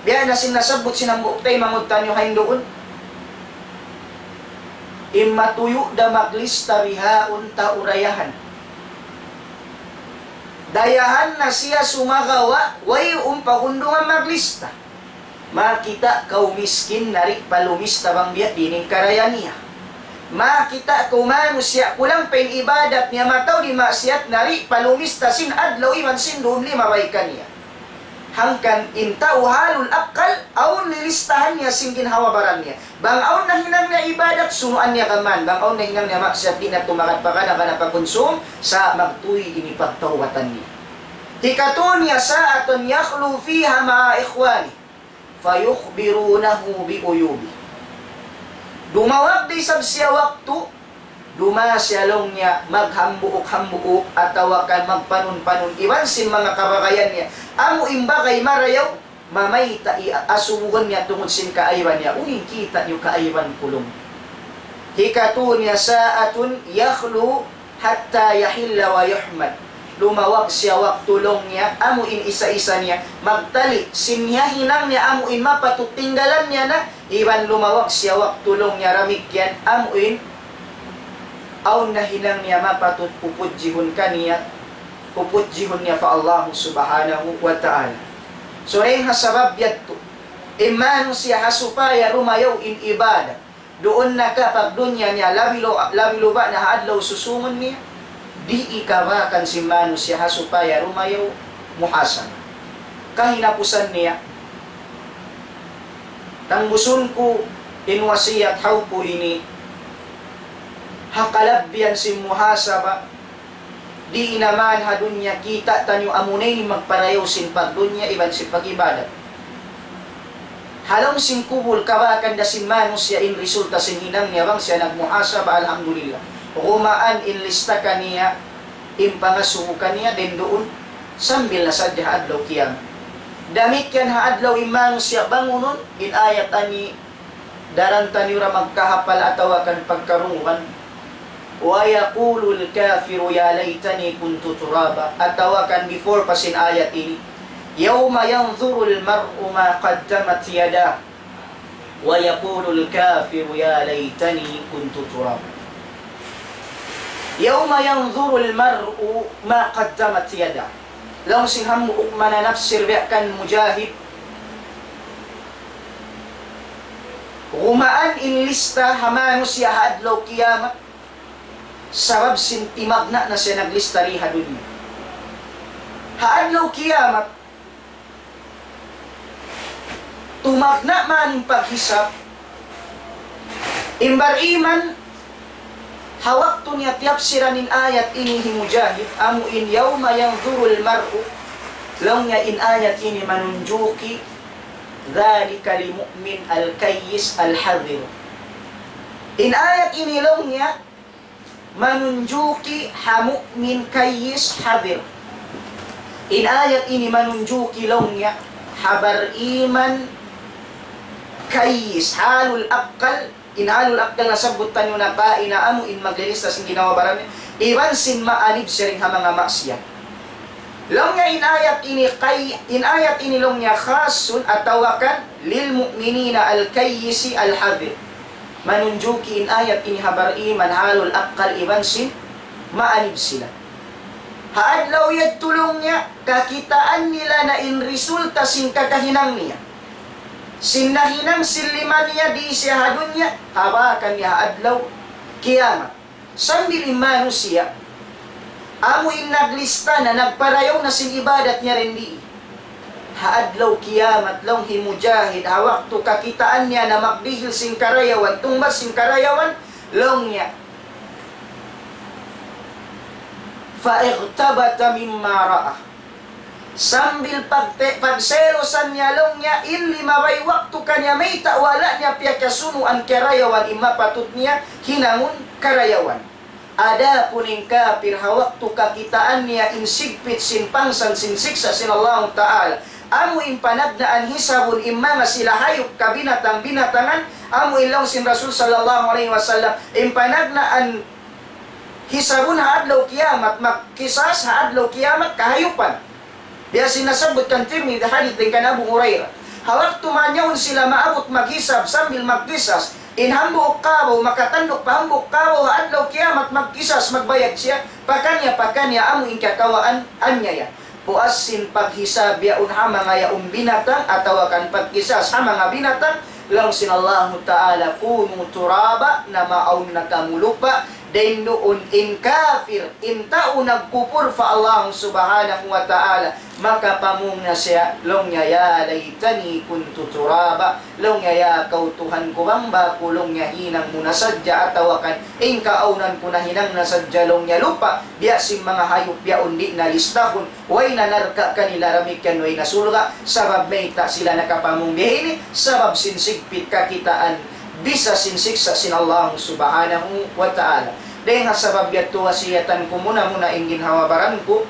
Biya' na sin nasabbut sin hambuuk taymanghud taniyu ha duun. In matuyu' da maglista bihaun tau dayahan. Dayahan na siya sumagawa', wayruun pagundungan maglista. Makakita' kaw miskin, nari' pa lumista bang biya' diin in karaya niya. Makakita' kaw manusiya' kulang pa in ibadat niya, mataud in maksiyat, nari' pa lumista sin adlaw iban sin dum limabay kaniya. Hangkan in tau halul akkal, awn lilistahan niya sin ginhawa-baran niya. Bang awn nahinang niya ibadat, sunuan niya kaman. Bang awn nahinang niya maksiyat, di' na tumakat pa kana-kana pagkunsum, sa' magtuy in pagtawbatan niya. Hikatu niya, ساعة يخلو فيها مع إخوانه فيخبرونه بعيوبه. Dumawag da isab siya waktu, duma siya laung niya maghambuuk-hambuuk atawa kan magpanun-panun iban sin manga kabagayan niya. Amu in bagay marayaw, mamayta' i-, asubuhun niya tungud sin kaaiban niya. Unu in kita' niyu kaaiban ku laung. Hikatu niya, ساعة يخلو حتى يحل ويحمد. Dumawag siya waktu laung niya, amu in isa-isa niya, magtali, sin niya hinang niya, amu in mapatut tinggalan niya na, iban dumawag siya waktu laung niya damikkiyan, amu in awn nahinang niya mapatut pupudjihun kaniya, pupudjihun niya pa Allah Subhanahu wa Ta'ala. So, dayn ha sabab yadtu, in manusiya' ha supaya dumayaw in ibadat, duun na ka pagdunya niya, labi lu-, labi luba na ha adlaw susungun niya, di' ikabakan sin manusiya' ha supaya dumayaw muhasabah. Kahinapusan niya, tangbusun ku in wasiyat haw ku ini, ha kalabbihan sin muhasabah, di' na man ha dunya kita' taniyu amuna in magparayaw sin pagdunya iban sin pag-ibadat. Ha lawm sin kubul kabakan da sin manusiya' in resulta sin hinang niya bang siya nagmuhasabah, alhamdulillah. Gumaan in lista kaniya, in pangasubu kaniya, dayn duun, sambil na sadja ha adlaw kiyamat. Damikkiyan ha adlaw in manusiya' bangunun, in ayat ani daran taniyu ra magkahapal atawa kan pagkarungugan. ويقول الكافر يا ليتني كنت ترابا. Atawa kan before pa sin ayat ini. يوم ينظر المرء ما قدمت يداه ويقول الكافر يا ليتني كنت ترابا. يوم ينظر المرء ما قدمت يداه. Laung sin hambuuk mananapsir biya' kan Mujahid. Gumaan in lista ha manusiya' ha adlaw kiyamat. Sabab sin timagna' na siya naglista di ha dunya. Ha adlaw kiyamat, tumagna' man in paghisab, in bariman, ha waktu niya tiyapsiran in ayat ini hi Mujahid, amu in يوم ينظر المرء, laung niya in ayat ini manunjuki, ذلك للمؤمن الكيس الحذر. In ayat ini laung niya, manunjuki ha mu'min kayyis hadhir. In ayat ini manunjuki laung niya ha bariman kayyis, halul akkal, in halul akkal nasabbut taniyu na kaina amu in maglilista sin ginhawa-baran niya, iban sin maanib siya dayn ha manga maksiyat. Laung niya in ayat ini kay, in ayat ini laung niya khasun atawa kan lil mu'minina al kayyisi al hadhir. Manunjuki in ayat ini ha bariman halul akkal iban sin maanib sila. Ha adlaw yadtu laung niya, kakitaan nila na in resulta sin kakahinang niya. Sin nahinang sin lima niya di siya ha dunya, habakan niya ha adlaw kiyamat. Sambil in manusiya', amu in naglista na, nagparayaw na sin ibadat niya dindi. Ha adlaw kiyamat, laung hi Mujahid, ha waktu kakitaan niya na magdihil sin karayawan, tungbas sin karayawan, laung niya, فاغتبط مما رأى. Sambil pagte-, pagselusan niya laung niya, in limabay waktu kaniya mayta' wala' niya piyakasunuan karayawan in mapatut niya hinangun karayawan. Adapun in kapir ha waktu kakitaan niya in sigpit sin pangsan sin siksa' sin Allahu Ta'ala, amu in panagnaan hisabun in manga sila hayup kabinatang-binatangan, amu in laung sin Rasul sallallahu alayhi wasallam, in panagnaan hisabun ha adlaw kiyamat, magkisas ha adlaw kiyamat kahayupan. Biya' sin nasabbut kan Tirmidhi, hadith dayn kan Abu Hurairah. Ha waktu manyaun sila maabut maghisab sambil magkisas, in hambuuk kabaw makatanduk pa hambuuk kabaw ha adlaw kiyamat magkisas, magbayad siya, pakaniya-pakaniya amu in kakawaan anyaya. Puas sin paghisab yaun ha manga yaun binatang atawa kan pagkisas ha manga binatang, laung sin Allahu Ta'ala, كونوا ترابا, na maawn na kamu lupa', dayn duun in kapir, in tau nagkupur pa Allah Subhanahu wa Ta'ala, makapamung na siya, laung niya, يا ليتني كنت ترابا, laung niya, ya kaw Tuhan ku, bang ba aku, laung niya, hinang mu na sadja, atawa kan in kaawnan ku nahinang na sadja, laung niya, lupa', biya' sin manga hayup yaun di' na listahun, way na narka' kanila damikkiyan way na surga', sabab mayta' sila nakapamung biya' ini, sabab sin sigpit kakitaan, bisa sin siksa' sin Allah Subhanahu wa Ta'ala. Dayn ha sabab yadtu wasiyatan ku muna-muna in ginhawa-baran ku,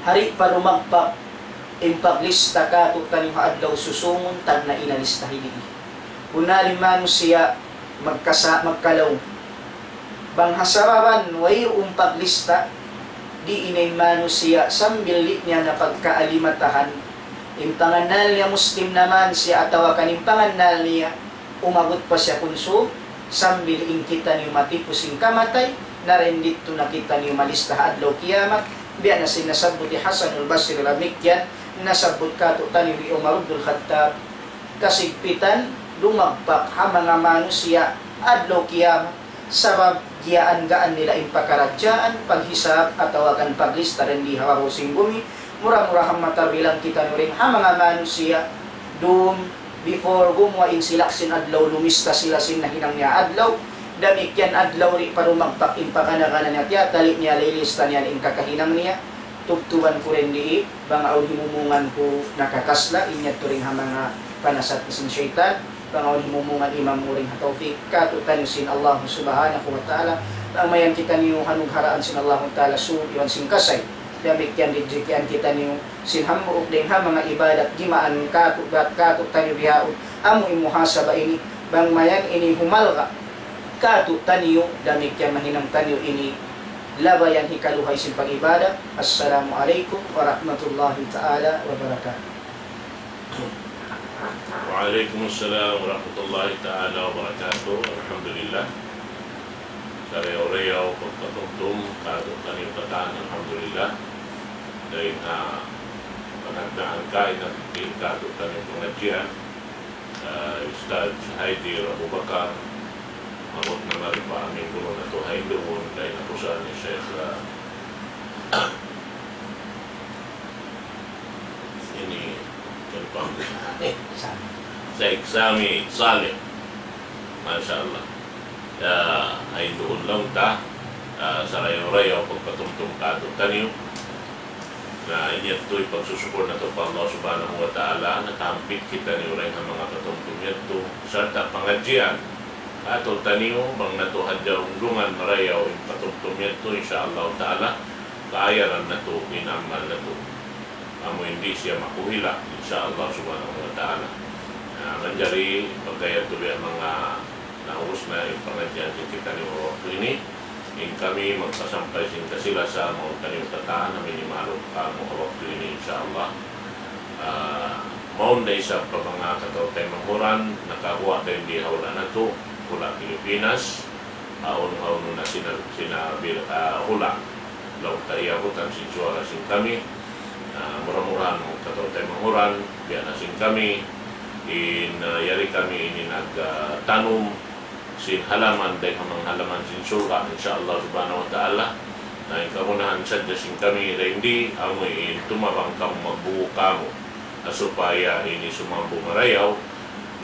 hari pa dumagpak in paglista katu'taniyu ha adlaw susungun, tagna' in lista hini. Kunali manusiya' magkasa-, magkalaung. Bang ha sababan wayruun paglista, di' in manusiya' sambil di' niya na pagkaalimatahan. In pangannal niya Muslim naman siya atawa kan in pangannal niya umabut pa siya kunsum, sambil in kitaniyu matipu' sin kamatay, na dayn didtu na kitaniyu malista ha adlaw kiyamat, biya' na sin nasabbut hi Hasanul Basri damikkiyan, nasabbut katu'taniyu hi Umar ibnul Khattab, kasigpitan dumagpak ha manga manusiya' adlaw kiyamat, sabab giyaan-gaan nila in pakaradjaan, paghisab, atawa kan paglista dayn di ha babaw sin gumi, mura-murahan matarbilang kitaniyu dayn ha manga manusiya', dum, before gumuwa' in silak sin adlaw, lumista sila sin nahinang niya adlaw, damikkiyan adlaw di' pa dumagpak in pakana-kana niya, tiyatali' niya, lilista niya in kakahinang niya, tubtuban ku dayn di, bang awn himumungan ku nakakasla', in yadtu dayn ha manga panasat sin saytan, bang awn himumungan imam mu dayn ha tawfik, katu'taniyu sin Allah Subhanahu wa Ta'ala, bang mayan kitaniyu hanugharaan sin Allah Ta'ala sūd iban sin kasay, damikkiyan rijkian kitaniyu sin hambuuk dayn ha manga ibadat, jimaan katu', bat katu'taniyu bihaun, amu in muhasaba ini, bang mayan ini humalga' katu'taniyu, damikkiyan mahinang taniyu ini labayan hikaluhay sin pag-ibadat. Assalamu alaykum warahmatullahi ta'ala wabarakatuh. وعليكم السلام ورحمة الله تعالى وبركاته. Alhamdulillah. Sarayaw-rayaw pagpatumtum katu'taniyu katan, alhamdulillah. Dayn ha panagnaan kaina, in katu'taniyu pangadjian, ah, Ustadz Haidir Abu Bakar, maabut na mari pa amin guru natu' ha Indoon, kay Sayyid Sami Saleh. Masha Allah. Ya, ay duun lang ta, ah, sarayaw-rayaw pagpatumtum kātu'niyu. Na in yadtu in pagsusukur natu' pa Allah Subhanahu wa Ta'ala, nakahampit kitaniyu dayn ha manga patumtum yadtu, sarta' pangadjian kātu'niyu, bang natu' hadja rundungan marayaw in patumtum yadtu, insya Allah Ta'ala, kaayaran natu' in amal natu'. Amu in di' siya makuhila', insya Allah Subhanahu wa Ta'ala. Na, manjari pagka yadtu biya' manga naubus na in pangadjian sin kitaniyu ha waktu ini, in kami magpasampay sin kasi-lasa mawn kaniyu katan, amu in maalum kamu ha waktu ini, insya Allah. Ah, mawn da isab pa manga kataw-taymanghuran, nakaguwa' da in di' ha hula' natu', hula' Pilipinas, awn, awn na sina-, sinabil, ah, hula'. Laung ta iyabutan sin suwara sin kami. Ah, mura-murahan manga kataw-taymanghuran, biya' na sin kami, in, ah, yari kami ini nag, ah, tanum sin halaman, dayn ha manga halaman sin surga', insya Allah Subhanahu wa Ta'ala. Na in kagunahan sadja sin kami dayn di, amu in tumabang kamu, magbugu kamu. Na supaya ini sumambung marayaw,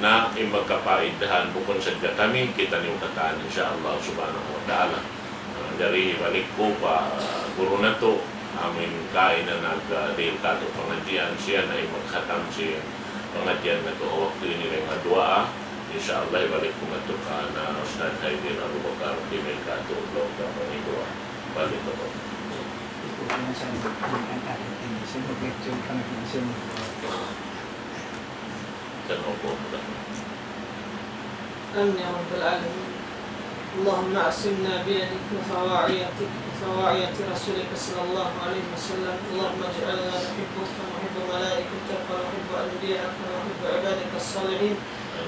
na in magkapaidahan bukun sadja kami, kitaniyu katan, insya Allah Subhanahu wa Ta'ala. Ah, jari balik ku pa guru natu', amu in kaina nagdihil kātu' pangadjian, siya na in magkhatam sin pangadjian natu' ha waktu ini dayn ha duwaa. Insya Allah, balik ku natu' kan Ustadz Haidin Abu Bakar, dihil kātu' laung ta pangiduwaa. Balik ku. Ito po ang sabi ko, ang ating ini, sa mga lecture, ang ating sa mga آمين يا رب العالمين. اللهم أعصمنا بيدك وفي وعيتك، وفي وعية رسولك صلى الله عليه وسلم. اللهم اجعلنا نحبك ونحب ملائكتك ونحب أنبياءك ونحب عبادك الصالحين.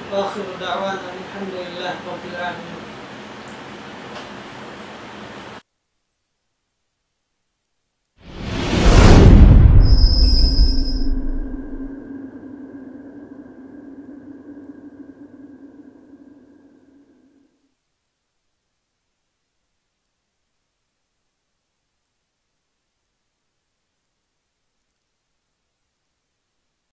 وآخر دعوانا أن الحمد لله رب العالمين.